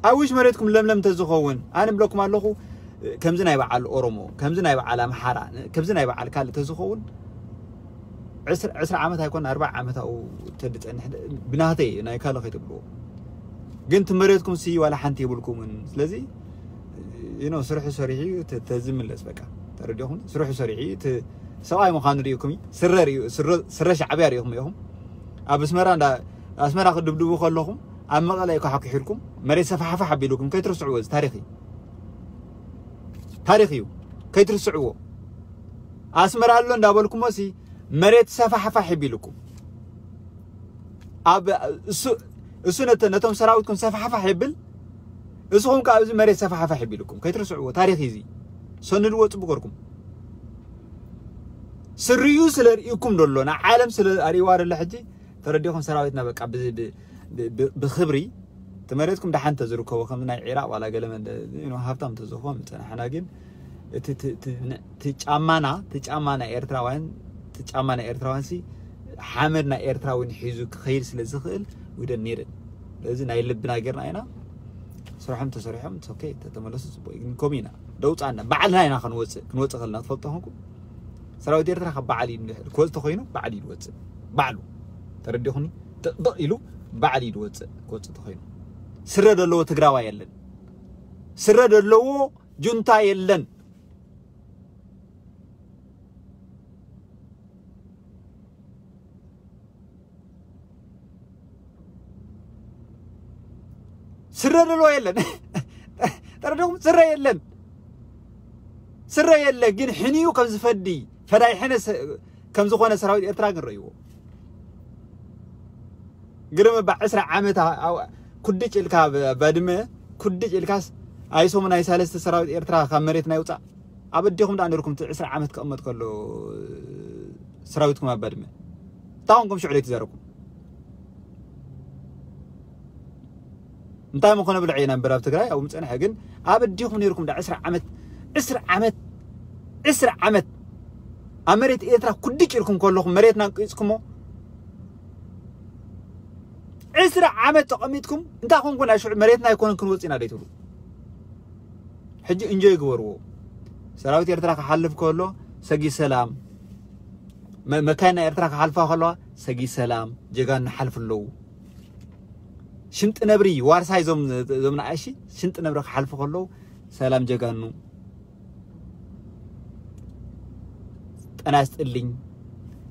ኣብ ውሽ መሬትኩም ለምለም ተዝኸውን ኣነ ብለኩም ኣለኹ ከምዚ ናይ በዓል ኦሮሞ ከምዚ ናይ በዓል ኣምሓራ ከምዚ ናይ በዓል ካልእ ተዝኸውን ዕስራ ዓመት ኣይኮን ኣርባ ዓመት ኣብኡ ተድፀንሕ ብናተይ ናይ ካልእ ከይትብልዎ ግን ትመሬትኩም ሲ ዋላ ሓንቲ የብልኩምን ስለዚ ኖ ስርሑ ሰሪሑ ተዝምለስ በቃ ተረዲኹም ስርሑ ሰሪሑ ሰብኣይ ምዃኑ ሪእኩም ስረ ሻዕብያ ሪእኹም ኢኹም ኣብ ኣስመራ ኣስመራ ክድብድቡ ከለኹም ኣብ መቐለ እዩ ከሓኩሒልኩም መሬት ሰፋሓፋሕ ኣቢልኩም ከይትርስዕዎ እዚ ታሪኽ እዩ ታሪኽ እዩ ከይትርስዕዎ ኣስመራ ኣሎ እንዳበልኩሞ ሲ መሬት ሰፋሓፋሕ ይቢልኩም ኣብ እሱ እሱ ነተ ነቶም ሰራዊትኩም ሰፋሓፋሕ ይብል እስኹም ከ ኣብዚ መሬት ሰፋሓፋሕ ይቢልኩም ከይትርስዕዎ ታሪኽ እዩ እዚ ሰንድዎ ፅቡቅ ገርኩም ስርዩ ስለ ርእይኩም ደሎ ንዓለም ስለ ኣርእዋ ደሎ ሕጂ ተረዲኹም ሰራዊትና በቃ ብክብሪ ትመሬትኩም ደሓን ተዝርከቦ ከም ናይ ዒራቅ ዋላ ገለ ሃብታም ተዝኾም ዝፀናሕና ግን እቲ ጫማና እቲ ጫማ ናይ ኤርትራውያን እቲ ጫማ ናይ ኤርትራውያን ሲ ሓመድ ናይ ኤርትራውን ሒዙ ክኸይድ ስለ ዝኽእል ዊደን ኔድን እዚ ናይ ልብና ጌርና ኢና ስርሖም ተሰሪሖም ኦኬ ተተመለሱ ፅቡቅ ግን ኮም ኢና ደውፃና ባዕልና ኢና ክንወፅእ ክንወፅእ ከለና ትፈልጦ ኾንኩም ሰራዊት ኤርትራ ካብ በዓል እዩ ክወፅእ ተኮይኑ በዓል እዩ ዝወፅእ ባዕሉ ተረዲኹኒ ጥቕጥቕ ኢሉ በዓል እዩ ዝወፅእ ክወፅእ ተኮይኑ ስረ ዘለዎ ትግራዋ የለን ስረ ዘለዎ ጁንታ የለን ስረ ዘለዎ የለን ተረዲኹም ስረ የለን ስረ የለ ግን ሕንዩ ከም ዝፈዲ ፈዳይ ሕነ ከም ዝኾነ ሰራዊት ኤርትራ ግን ረእይዎ ግርም ባ ዕስራ ዓመት ኩድጭ ኢልካ ባድመ ኩድጭ ኢልካስ ኣይሶም ናይ ሳለስተ ሰራዊት ኤርትራ ካብ መሬት ናይ ውፃእ ኣብ ኣዴኹም ደኣ ነርኩም ዕስራ ዓመት ክቕመጥ ከሎ ሰራዊትኩም ኣብ ባድመ እንታይ ኮንኩም ሽዑ ዘይትዛረብኩም እንታይ ምኾነ ብልዐ ኢና እምበር ኣብ ትግራይ ኣብኡ ምፀንሐ ግን ኣብ ኣዴኹም ነርኩም ዳ ዕስራ ዓመት ዕስራ ዓመት ዕስራ ዓመት ኣብ መሬት ኤርትራ ኩድጭ ኢልኩም ከለኹም መሬትና ኣንቂጽኩሞ ዕስራ ዓመት ተቐሚጥኩም እንታይ ኮንኩና ሽዑ መሬትና ኣይኮነን ክንወጽእ ኢና ደይትብሉ ሕጂ እንጆይ ግበርዎ ሰራዊት ኤርትራ ክሓልፍ ከሎ ሰጊ ሰላም መካይና ኤርትራ ክሓልፋ ከለዋ ሰጊ ሰላም ጀጋኑ ሓልፍ ኣለዉ ሽንጥ ነብሪ ዋርሳይ ዞም ዞም ንኣሺ ሽንጥ ነብሪ ክሓልፉ ከለዉ ሰላም ጀጋኑ ጠና ስጥልኝ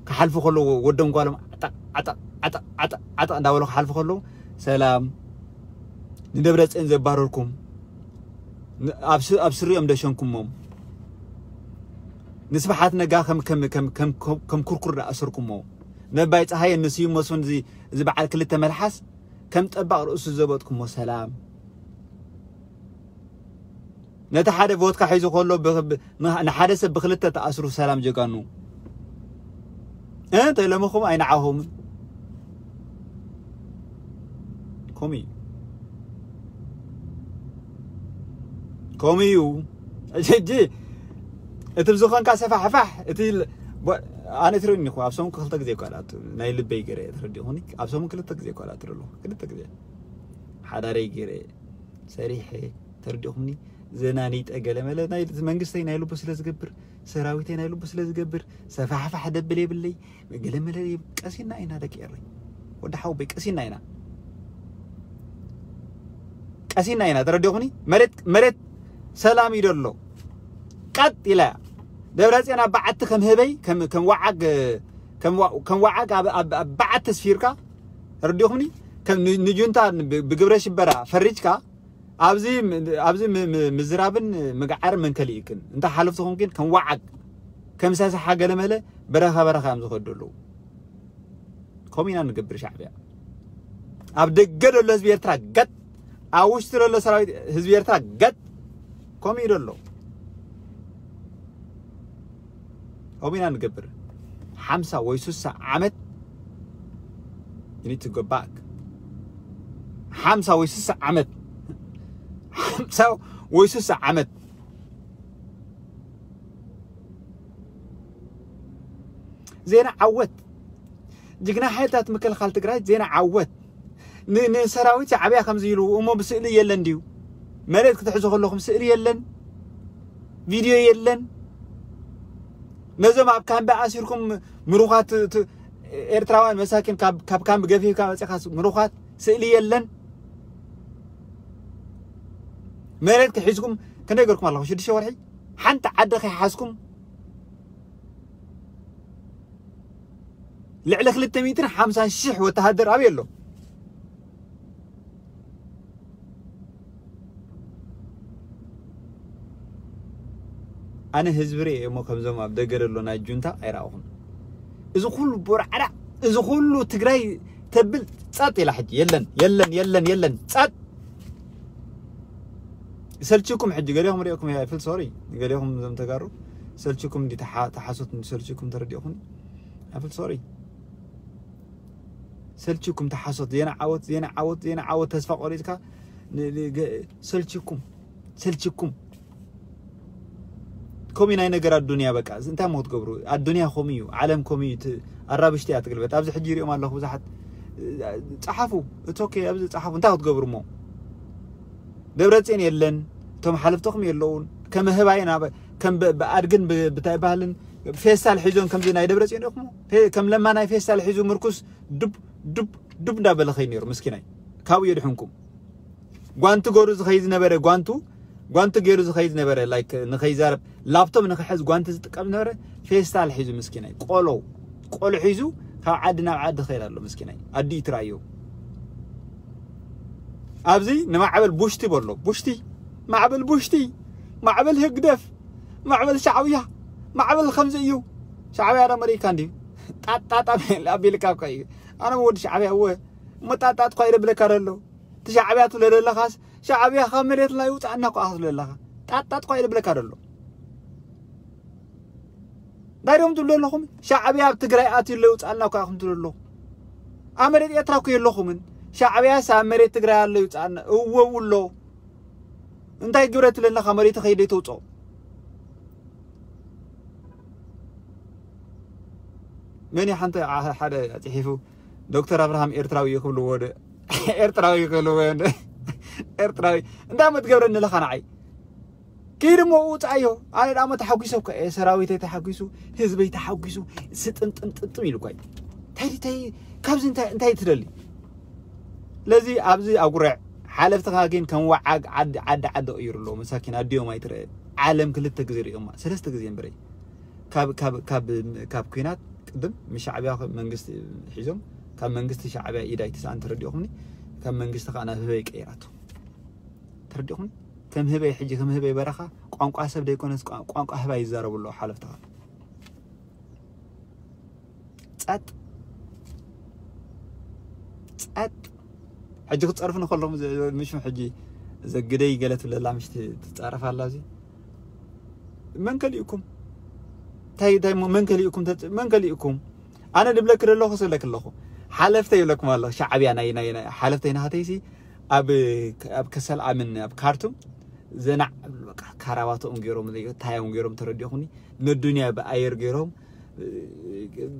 ክሓልፉ ከለዉ ወደም ጓሎም ዓጣ ዓጣ ዓጣ ዓጣ ዓጣ እንዳበሉ ክሓልፉ ከለዉ ሰላም ንደብረፅን ዘባረርኩም ኣብ ስሪኦም ደሸንኩሞም ንስብሓት ነጋ ከም ከም ከም ከም ከም ኩርኩር ኣሰርኩሞ ነባይ ፀሃየ ንስዩም መስፍን እዚ በዓል ክልተ መልሓስ ከም ጠባቕ ርእሱ ዘበጥኩሞ ሰላም ነቲ ሓደ ቮትካ ሒዙ ከሎ ንሓደ ሰብ ብክልተ ተኣስሩ ሰላም ጀጋኑ እንተ ለምኹም ኣይንዓኹምን ከምኡ እዩ ከምኡ እዩ ሕጂ እቲ ብዝኾንካ ሰፋሕፋሕ እቲ ኣነ ትርእኒ ኢኹ ኣብ ሰሙን ክልተ ግዜ ይኳል ኣቱ ናይ ልበይ ገረ ተረዲኹኒ ኣብ ሰሙን ክልተ ግዜ ይኳል ኣቱ ኣለኹ ክልተ ግዜ ሓዳረይ ገረ ሰሪሐ ተረዲኹምኒ ዘናኒጠ ገለመለ ናይ መንግስተይ ናይ ልቡ ስለ ዝገብር ሰራዊተይ ናይ ልቡ ስለ ዝገብር ሰፋሕፋሕ ደብል የብለይ ገለመለ ቀሲና ኢና ደቂ ኤረይ ወዲ ሓውበይ ቀሲና ኢና ቀሲና ኢና ተረዲኹኒ መሬት መሬት ሰላም እዩ ደሎ ቀጥ ኢላ ደብረፅዮን ኣብ በዓቲ ከም ህበይ ከም ወዓግ ከም ወዓግ ኣብ በዓቲ ስፊርካ ተረዲኹምኒ ንጁንታ ብግብረ ሽበራ ፈሪጅካ ኣብዚ ኣብዚ ምዝራብን ምግዓር መን ከሊእክን እንተ ሓለፍቲ ኮንክን ከም ወዓግ ከም ሰሳሓ ገለመለ በረኻ በረኻ እዮም ዝኸዱ ኣለዉ ከምኡ ኢና ንገብር ሻዕብያ ኣብ ደገ ዘሎ ህዝቢ ኤርትራ ገጥ ኣብ ውሽጢ ዘሎ ሰራዊት ህዝቢ ኤርትራ ገጥ ከምኡ እዩ ዘሎ ከምኡ ኢና ንገብር ሓምሳ ወይ ስሳ ዓመት you need to go back ሓምሳ ወይ ስሳ ዓመት ሓምሳ ወይ ስሳ ዓመት ዜና ዓወት ጅግና ሓይልታት ምክልኻል ትግራይ ዜና ዓወት ንሰራዊት ሻዕብያ ከምዚ ኢሉ እሞ ብስእሊ የለን ድዩ መሬት ክትሕዙ ከለኹም ስእሊ የለን ቪድዮ የለን ነዞም ኣብ ካምቢ ኣሲርኩም ምሩኻት ኤርትራውያን መሳኪን ካብ ካምቢ ገፊፍካ መፂኻ ምሩኻት ስእሊ የለን መሬት ክሒዝኩም ክንደይ ገርኩም ኣለኹም ሽዱሽተ ወርሒ ሓንቲ ዓዲ ከይሓዝኩም ልዕሊ ክልተ ሚእትን ሓምሳን ሽሕ ወተሃደር ኣበይ ኣሎ ኣነ ህዝቢ ርእ እሞ ከምዞም ኣብ ደገ ዘሎ ናይ ጁንታ ኣይረኣኹን እዚ ኩሉ ቦርዓዳ እዚ ኩሉ ትግራይ ተብል ጸጥ ኢላ ሕጂ የለን የለን የለን የለን ጸጥ ሰልችኩም ሕጂ ገሊኹም ሪእኩም ያ ፍል ሶሪ ገሊኹም ዘም ተጋሩ ሰልችኩም እንዲ ተሓሶት እንዲ ሰልችኩም ተረዲኹም ኣፍል ሶሪ ሰልችኩም ተሓሶት ዜና ዓወት ዜና ዓወት ዜና ዓወት ተስፋ ቆሪጥካ ሰልችኩም ሰልችኩም ከምኡ ናይ ነገር ኣዱንያ በቃ እንታይ ሞ ክትገብሩ ኣዱንያ ከምኡ እዩ ዓለም ከምኡ እዩ ኣራብሽቲ እያ ትግልበት ኣብዚ ሕጂ ይሪኦም ኣለኹ ብዙሓት ፀሓፉ እቲ ኦኬ ኣብዚ ፀሓፉ እንታይ ክትገብሩ ሞ ደብረፅን የለን እቶም ሓለፍትኹም የለውን ከመህባይ ናብ ከም ብኣድግን ብታይ ባህልን ፌስታል ሒዞም ከምዚ ናይ ደብረፅን ኢኹም ከም ለማ ናይ ፌስታል ሒዙ ምርኩስ ዱብ ዱብ ዱብ እንዳበለ ኸይ ነይሩ ምስኪናይ ካብኡ የድሕንኩም ጓንቲ ገሩ ዝኸይ ዝነበረ ጓንቱ ጓንቲ ገይሩ ዝኸይ ዝነበረ ላይክ ንኸይዛረብ ላፕቶፕ ንኽሕዝ ጓንቲ ዝጥቀም ዝነበረ ፌስታል ሒዙ ምስኪናይ ቆሎ ቆሎ ሒዙ ካብ ዓዲ ናብ ዓዲ ኸይድ ኣሎ ምስኪናይ ኣዲ ትራዮ ኣብዚ ንማዕበል ቡሽቲ በሎ ቡሽቲ ማዕበል ቡሽቲ ማዕበል ህግደፍ ማዕበል ሻዕብያ ማዕበል ከምዚ እዩ ሻዕብያ ዶ መሪካ እንዲ ጣጣጣ ኣቢልካ እኮ እዩ ኣነ ወዲ ሻዕብያ እወ እሞ ጣጣጥ ኳ ይደብለካ ደሎ እቲ ሻዕብያ ትብሎ ዘለኻስ ሻዕብያ ካብ መሬትና ይውፃእና እኮ ክትብሎ ዘለኻ ጣጣጥ ኳ ይደብለካ ደሎ እንታይ ዶም ትብሉ ኣለኹም ሻዕብያ ኣብ ትግራይ ኣትዩ ኣሎ ይውፃእና እኮ ኢኹም ትብሉ ኣለኹ ኣብ መሬት ኤርትራ እኮ የለኹምን ሻዕብያስ ኣብ መሬት ትግራይ ኣሎ ይውፃእና እወ ውሎ እንታይ ግብረ ትብለና ካብ መሬት ከይደ ተውፅኦ መን እዩ ሓንቲ ዓ- ሓደ ኣፅሒፉ? ዶክተር ኣብርሃም ኤርትራዊ እዩ ክብልዎ ዶ? ኤርትራዊ እዩ ክብልዎ ዶ? ኤርትራዊ እንታይ እሞ ትገብረኒ ኣለኻ ንዓይ? ከይድ እሞ ውፃዮ። ኣነ ደኣ እሞ ተሓጒሰ እኮ እየ፣ ሰራዊተይ ተሓጒሱ፣ ህዝበይ ተሓጒሱ፣ ስጥምጥምጥምጥም ኢሉ እኳ እዩ። እንታይ እንታይ ካብዚ እንታይ እንታይ ትደሊ? ስለዚ ኣብዚ ኣጉርዕ ሓለፍትኻ ግን ከም ወዓግ ዓዲ ዓዲ ዓዲ ቀይሩ ኣለዎ። መሳኪን ኣዲኦም ኣይትረአ። ዓለም ክልተ ግዜ ሪኦማ፣ ሰለስተ ግዜ እምበረይ። ካብ ካብ ካብ ካብ ኩናት ቅድም ምስ ሻዕብያ መንግስቲ ሒዞም፣ ካብ መንግስቲ ሻዕብያ ኢድ ኣይትስኣን፣ ተረዲኦኹምኒ። ካብ መንግስቲ ከዓ ናብ ህበይ ቀይራቶ፣ ተረዲኦኹምኒ። ከም ህበይ ሕጂ ከም ህበይ በረኻ ቋንቋ ሰብ ደይኮነስ ቋ- ቋንቋ ህባይ ይዛረቡ ኣለዉ ሓለፍትኻ። ጸጥ ጸጥ። ሕጂ ክትጸርፉ ንከለኹም ዘ- ምሽ ሕጂ ዘግደይ ገለ ትብለላ ምሽ ት- ትጻረፍ ኣላ እዚ። መን ከሊእኩም? እንታይ እንታይ እሞ መን ከሊእኩም ተጽ- መን ከሊእኩም? ኣነ ድብለክ ደለኹ ስለክ ኣለኹ። ሓለፍተይ ይብለኩም ኣለኹ። ሻዕብያ ናይ ናይ ናይ ሓለፍተይ ናኸተይሲ ኣብ ኣብ ከሰል ኣምን ኣብ ካርቱም ዘናዕ በቃ ካራባቶም ገይሮም ታዮም ገይሮም ተረዲኹኒ። ነዱንያ ብኣየር ገይሮም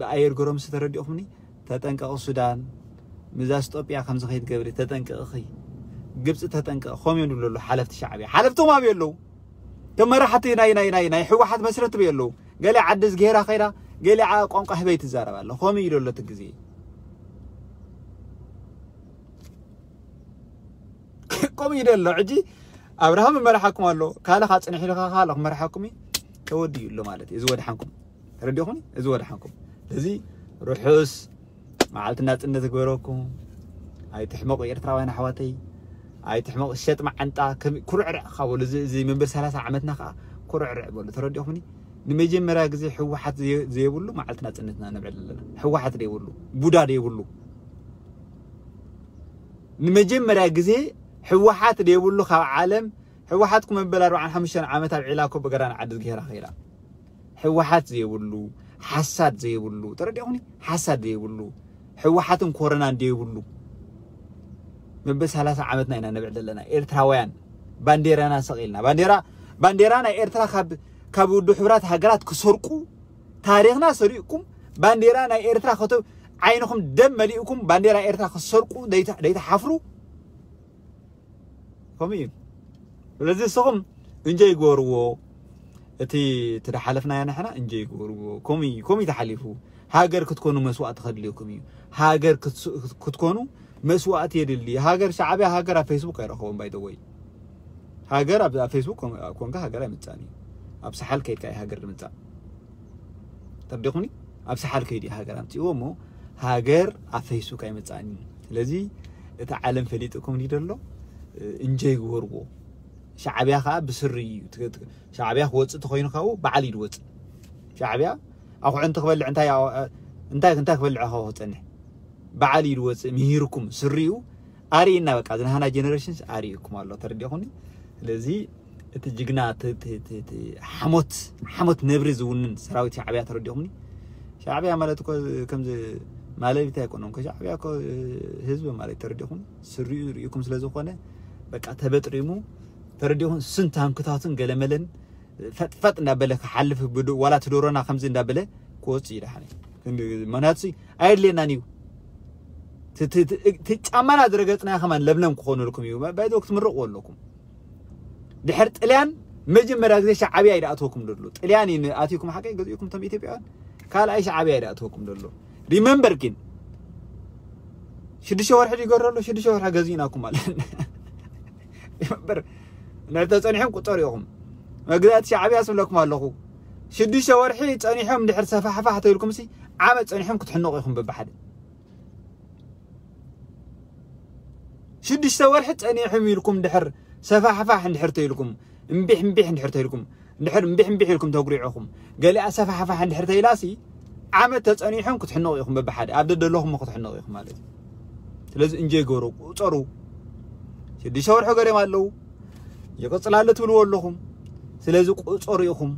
ብኣየር ገይሮም ዝተረዲኹኒ። ተጠንቀቕ ሱዳን፣ ምዛ ኢትዮጵያ ከምዚ ከይትገብሪ ተጠንቀቕኺ። ግብፂ ተጠንቀቕ። ከምኡ እዮም ዝብሉ ኣለዉ ሓለፍቲ ሻዕብያ። ሓለፍቶም ኣበይ ኣለዉ? ከም መራሕቲ ናይ ናይ ናይ ናይ ህወሓት መስረቲ ኣበይ ኣለዉ? ገለ ዓዲ ዝገይራ ከይዳ ገለ ዓ- ቋንቋ ህበይ ትዛረብ ኣለ። ከምኡ እዩ ዘሎ እቲ ግዜ። ከምኡ እዩ ዘሎ። ሕጂ ኣብርሃም መራሓኩም ኣሎ፣ ካልኻ ጽንሕ ኢልካ ካልኽ መራሓኩም እዩ። ተወዲኡ ኣሎ ማለት እዩ። እዚ ወድሓንኩም ተረዲኹም፣ እዚ ወድሓንኩም። እዚ ርሑስ መዓልቲ ናጽነት ግበረኩም። ኣይትሕመቑ ኤርትራውያን ኣሕዋተይ፣ ኣይትሕመቑ። ሸጥ መዓንጣ ከም ኩርዕርዕ ካብ በሉ፣ እዚ እዚ ምንብር ሰላሳ ዓመትና ከዓ ኩርዕርዕ በሉ። ተረዲኹምኒ? ንመጀመርያ ግዜ ህወሓት ዘየ- ዘየብሉ መዓልቲ ናጽነትና ነብዕል ኣለና። ህወሓት ደይብሉ፣ ቡዳ ደይብሉ፣ ንመጀመርያ ግዜ ህወሓት ደይብሉ ካብ ዓለም። ህወሓት እኮ መበል ኣርባዓን ሓሙሽተን ዓመት ኣብ ዒላ እኮ ብገራን ዓዲ ዝገይራ ከይዳ። ህወሓት ዘይብሉ፣ ሓሳድ ዘይብሉ፣ ተረዲኹኒ? ሓሳድ ዘይብሉ፣ ህወሓትን ኮረናን ዘይብሉ። መበል ሰላሳ ዓመትና ኢና ነብዕል ዘለና ኤርትራውያን። ባንዴራና ሰቒልና፣ ባንዴራ ባንዴራ ናይ ኤርትራ ካብ ካብ ውድብ ሕቡራት ሃገራት ክሰርቁ፣ ታሪኽና ሰሪቕኩም፣ ባንዴራ ናይ ኤርትራ ከተ ዓይንኹም ደም መሊእኩም ባንዴራ ኤርትራ ክሰርቁ ደይተ- ደይተሓፍሩ። ከምኡ እዩ። ስለዚ ንስኹም እንጆይ ግበርዎ። እቲ እቲ ዝሓለፍናዮ ንሕና እንጆይ ግበርዎ። ከምኡ እዩ፣ ከምኡ እዩ ተሓሊፉ። ሃገር ክትኮኑ መስዋእቲ ከድልየኩም እዩ። ሃገር ክትስ- ክትኮኑ መስዋእቲ የድሊ። ሃገር ሻዕብያ ሃገር ኣብ ፌስቡክ ኣይረኸቦም ባይተወይ። ሃገር ኣብ ኣብ ፌስቡክ ኮን- ኮንካ ሃገር ኣይምጻእን እዩ። ኣብ ሰሓል ከይድካ እዩ ሃገር ዝምጻእ። ተርዲኹኒ? ኣብ ሰሓል ከይዲ ሃገር ኣምፅእዎ እሞ ሃገር ኣብ ፌስቡክ ኣይመፃእን እዩ። ስለዚ እቲ ዓለም ፈሊጥኩም ድዩ ዘሎ? እንጀይ ግበርዎ። ሻዕብያ ከዓ ብስሪ እዩ። ት- ት- ሻዕብያ ክወፅእ ተኮይኑ ካብኡ በዓል እዩ ድወፅእ። ሻዕብያ ኣኩዕንቲ ክበልዕ እንታይ ኣው- እንታይ እንታይ ክበልዕ ካብ ክፀንሕ በዓል እዩ ድወፅእ። ምሂርኩም ስሪኡ ኣርእና በቃ ዝናሃና ጀነሬሽንስ ኣርእኩም ኣሎ። ተረዲኹኒ? ስለዚ እቲ ጅግና እቲ- እቲ- እቲ- እቲ ሓሞት ሓሞት ነብሪ ዝውንን ሰራዊት ሻዕብያ ተረዲኹምኒ? ሻዕብያ ማለት እኮ ከምዚ ማለሊት ኣይኮነን እኮ። ሻዕብያ እኮ ህዝቢ ማለት ተረዲኹም? ስሪኡ ርኢኩም ስለ ዝኾነ በቃ ተበጥሪሙ ተረዲኹም። ስንት ሃንክታቱን ገለመለን ፈጥፈጥ እንዳበለ ክሓልፍ ብድ- ዋላ ትዶሮና ከምዚ እንዳበለ ክወፅእ ይደሓነ። ምክንያቱ ኣየድልየናን እዩ። ቲ- ቲ- ቲ- እቲ ጫማና ዝረገፅናዮ ከማን ለምለም ክኾነልኩም እዩ። ባይዘ ክትምረቑ ኣለኩም። ድሕር ጥልያን መጀመርያ ግዜ ሻዕብያ እዩ ዝኣትወኩም ዘሎ። ጥልያን እዩ ኣትዩኩም ሓቀይ ገዚኡኩም እቶም ኢትዮጵያውያን ካልኣይ ሻዕብያ እዩ ዝኣትወኩም ዘሎ። ሪመምበር ግን ሽዱሽተ ወርሒ ይገረሉ ሽዱሽተ ወርሒ ገዚእናኩም ማለት ሪመምበር ንድሕር ተፀኒሖም ቁፀሩ ኢኹም። መግዛእቲ ሻዕብያ ስብለኩም ኣለኹ። ሽዱሽተ ወርሒ ፀኒሖም ድሕር ሰፋሕፋሕ ተይልኩም ሲ ዓመት ፀኒሖም ክትሕነቑ ኢኹም በብሓደ። ሽዱሽተ ወርሒ ጸኒሕም ኢልኩም ድሕር ሰፋሕፋሕ እንድሕር ተይልኩም እምቢሕ እምቢሕ እንድሕር ተይልኩም እንድሕር እምቢሕ እምቢሕ ኢልኩም ተጉሪዕኹም ገሊኣ ሰፋሕፋሕ እንድሕር ተይላሲ ዓመት ተጸኒሖም ክትሕነቑ ኢኹም በብሓደ ኣብ ደደለኹም ክትሕነቑ ኢኹም ማለት እዩ። ስለዚ እንጀ ይገሩ ቁጸሩ። ሽዱሽተ ወርሒ ገሪም ኣለዉ ይቕጽል ኣሎ ትብልዎ ኣለኹም። ስለዚ ቁጸሩ ኢኹም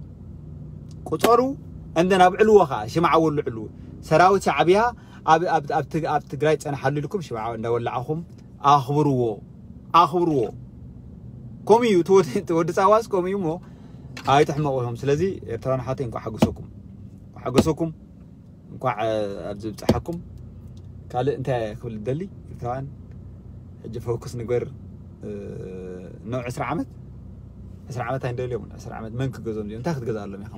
ቁጸሩ። እንደን ኣብዕልዎ ከዓ ሽምዓ ወልዕሉ ሰራዊት ሻዕብያ ኣብ ኣብ ኣብ ትግ- ኣብ ትግራይ ጸንሓሉ ኢልኩም ሽምዓ እንዳወላዕኹም ኣኽብርዎ ኣኽብርዎ። ከምኡ እዩ እቲ ወዲ- እቲ ወዲ ጻዋስ ከምኡ እዩ እሞ ኣይትሕመቑ ኢኹም። ስለዚ ኤርትራውያን ሓተይ እንኳዕ ሓጎሰኩም እንኳዕ ሓጎሰኩም። እንኳዕ ኣብዚ ብፅሓኩም። ካልእ እንታይ ክብል ደሊ? ኤርትራውያን ሕጂ ፎክስ ንግበር። እ፣ ኖ ዕስራ ዓመት፣ ዕስራ ዓመት ኣይንደልዮምን። ዕስራ ዓመት መን ክገዞም እዚኦም? እንታይ ክትገዛሎም ኢኻ?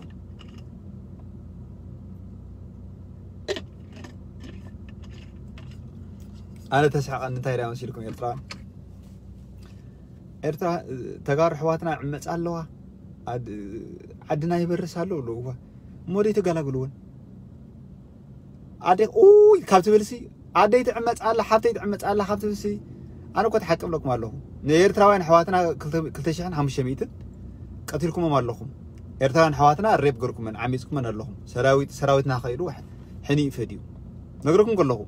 ኣነ ተስሕቐኒ እንታይ ዳ መሲልኩም ኤርትራውያን? ኤርትራ፣ ተጋሩ ኣሕዋትና ይዕመጻ ኣለዋ። ዓድ-፣ ዓድና ይበርስ ኣሎ ኣለዋ። እሞ ደይ ተገላግልወን? ኣደ ኡይ ካብ ትብልሲ፣ ኣደይ ትዕመጻ ኣላ፣ ሓብተይ ትዕመጻ ኣላ ካብ ትብልሲ፣ ኣነ እኮ ተሓቂ እብለኩም ኣለኹ። ንኤርትራውያን ኣሕዋትና ክልተ፣ ክልተ ሽሕን ሓሙሽተ ሚእትን ቀቲልኩሞም ኣለኹም። ኤርትራውያን ኣሕዋትና ሬፕ ገርኩመን፣ ዓሚጽኩመን ኣለኹም። ሰራዊት፣ ሰራዊትና ከይዱ ሕኒ ይፈድዩ። ነግረኩም ከለኹ፣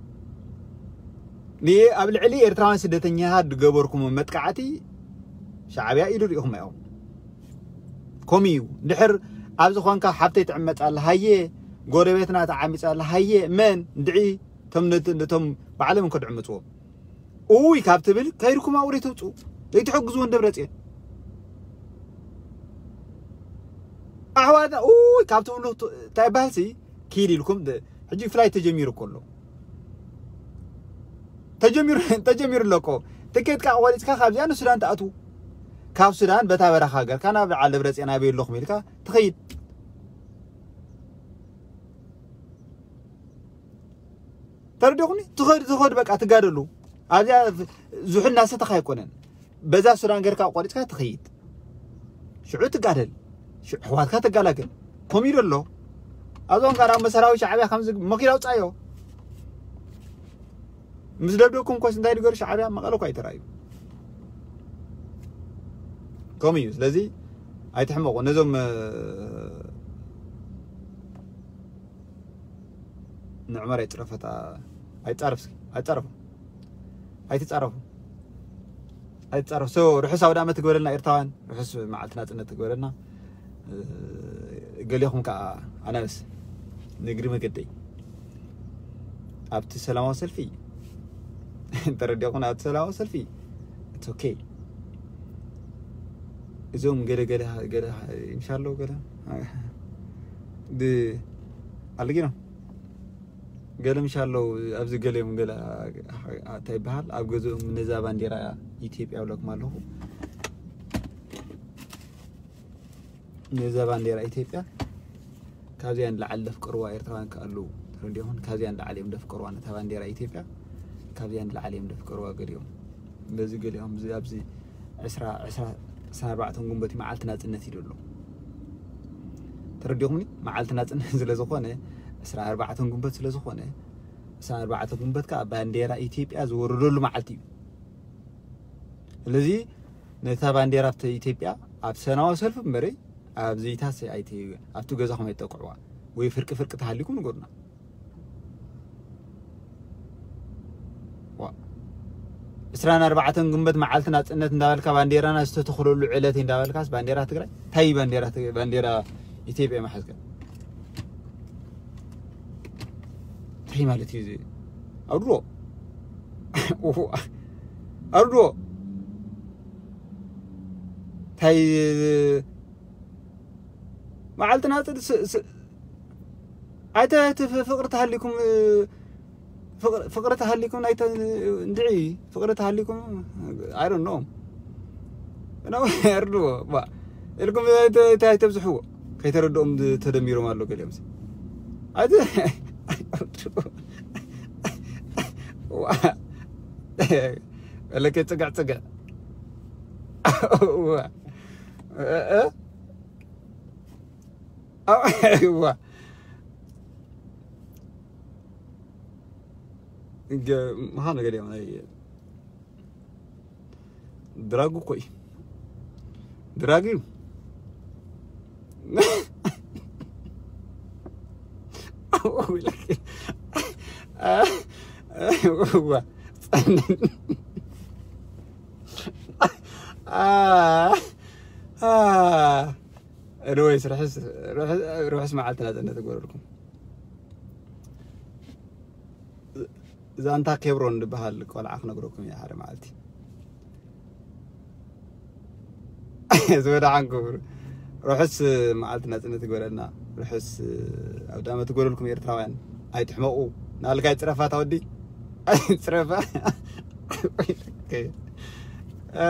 ን-፣ ኣብ ልዕሊ ኤርትራውያን ስደተኛታት ዝገበርኩሞ መጥቃዕቲ ሻዕብያ ኢዱ ርኢኹም እዮም። ከምኡ እዩ። ድሕር ኣብ ዝኾንካ ሓብተይ ትዕመጻ ኣላ፣ ሃየ፣ ጎረቤትና ተዓሚጻ ኣላ፣ ሃየ፣ መን? ድዒ፣ እቶም ነት-፣ ነቶም ባዕሎም እንኮ ድዕምጽዎም። ኡይ ካብ ትብል ከይድኩም ኣብኡ ደይተውጽኡ፣ ደይትሕግዝዎ ንደብረጽዮን። ኣሕዋትና ኡይ ካብ ትብሉ ቱ-፣ እንታይ ይበሃልሲ? ኪድ ኢልኩም ደ-፣ ሕጂ ፍላይት ተጀሚሩ እኮ ኣሎ። ተጀሚሩ፣ ተጀሚሩ ኣሎ እኮ። ትኬትካ ቆሪጽካ ካብዚኣ ንሱዳን ትኣትዉ። ካብ ሱዳን በታ በረኻ ሃገርካ ናብ በዓል ደብረጽዮን ኣበይ ኣለኹም ኢልካ ትኸይድ። ተረዲኹኒ? ትኸድ፣ ትኸድ በቃ ትጋደሉ። ኣብዚኣ ዝሑል እናሰተኻ ኣይኮነን። በዛ ሱዳን ጌርካ ቆሪጽካ ትኸይድ። ሽዑ ትጋደል። ሽዑ ኣሕዋትካ ትገላገል። ከምኡ ኢሉ ኣሎ። ኣብዞም ጋር ኣብ መሰራዊ ሻዕብያ ከምዚ መኪና ኣውጻዮ። ምስ ደብደብኩም ኮስ እንታይ ድገሩ ሻዕብያ መቐለ እኮ ኣይተራእዩ። ከምኡ እዩ። ስለዚ ኣይትሕመቑ። ነዞም፣ እ፣ ንዕመር ኣይጽረፈታ፣ ኣይጻረፍ እስኪ፣ ኣይጻረፉ። ኣይትጻረፉ። ኣይትጻረፉ። ሶ፣ ርሑስ ኣውደ ዓመት ትግበረልና ኤርትራውያን። ርሑስ መዓልቲ ናጽነት ትግበረልና። እ፣ ገሊኹም ከኣ ኣናብስ ንእግሪ መገደይ ኣብቲ ሰላማዊ ሰልፊ ተረዲኹም፣ ኣብቲ ሰላማዊ ሰልፊ it's okay። እዞም ገለ ገለ ገለ ምሻለው ገለ ድ-፣ ኣልጊኖ ገለ ምሻለው ኣብዚ ገሊኦም ገለ እንታይ ይበሃል ኣብ ገዝኦም ነዛ ባንዴራ ኢትዮጵያ ብለኩም ኣለኹ። ነዛ ባንዴራ ኢትዮጵያ ካብዚኣ ንላዕሊ ደፍቅርዋ ኤርትራውያን ከ ኣለዉ? ተረዲኹም? ካብዚኣ ንላዕሊ እዮም ደፍቅርዋ ነታ ባንዴራ ኢትዮጵያ። ካብዚኣ ንላዕሊ እዮም ደፍቅርዋ ገሊኦም። በዚ ገሊኦም እዚ ኣብዚ ዕስራ፣ ዕስራ፣ ዕስራን ኣርባዕተን ግንቦት መዓልቲ ናጽነት ኢሉ ኣሎ። ተረዲኹምኒ? መዓልቲ ናጽነት ስለ ዝኾነ፣ ዕስራን ኣርባዕተን ግንቦት ስለ ዝኾነ፣ ዕስራን ኣርባዕተን ግንቦት ከኣ ባንዴራ ኢትዮጵያ ዝወረደሉ መዓልቲ እዩ። ስለዚ ነታ ባንዴራ ኣብቲ ኢትዮጵያ ኣብ ሰላማዊ ሰልፊ እምበረይ ኣብ ዘይታስ ኣይተ-፣ ኣብቲ ገዛኹም ኣይትጠቅዕዋ ወይ ፍርቂ ፍርቂ ተሃሊኩም ንገሩና። ዋ። ዕስራን ኣርባዕተን ግንቦት መዓልቲ ናጽነት እንዳበልካ ባንዴራና ዝተተኽለሉ ዕለት እንዳበልካስ ባንዴራ ትግራይ? ታይ ባንዴራ ትግ-፣ ባንዴራ ኢትዮጵያ መሓዝካ? እንታይ ማለት እዩ እዚ? ኣውድዎ። ኣውድዎ። ታይ መዓልቲ ናጽነት ስ-፣ ስ-፣ ኣይተ-፣ እቲ ፍ-፣ ፍቕሪ ተሃሊኩም፣ እ፣ ፍቕሪ፣ ፍቕሪ ተሃሊኩም ናይተ-፣ እንድዒ፣ ፍቕሪ ተሃሊኩም፣ I don't know። እና እርድዎ፣ ባ፣ ኢልኩም ኣይተ-፣ ኣይተ-፣ ኣይተብዝሕዎ። ከይተረድኦም ዝ-፣ ተደሚሮም ኣሎ ገሊኦም። ኣይተ-፣ ዋ፣ ወለከ ጽግዕ ጽግዕ። ዋ። እ፣ እ፣ ዋ። ገ-፣ ምዃኑ ገሊኦም ናይ ድራግ እኮ እዩ። ድራግ እዩ። ዋ፣ ጸንን። አ፣ አ። Anyways፣ ርሑስ፣ ርሑስ፣ ርሑስ መዓልቲ ናጽነት ይግበረልኩም። ዛንታ ኬብሮን ዝበሃል ቆልዓ ክነግረኩም እየ ሓደ መዓልቲ። ዝወደዓን ክቡር ርሑስ መዓልቲ ናጽነት ይግበረልና። ርሑስ ኣውደ ዓመት ይግበረልኩም ኤርትራውያን። ኣይትሕመቑ። ንኣልጋ ይፅረፋ፣ ታወዲ ኣይፅረፋ። እ፣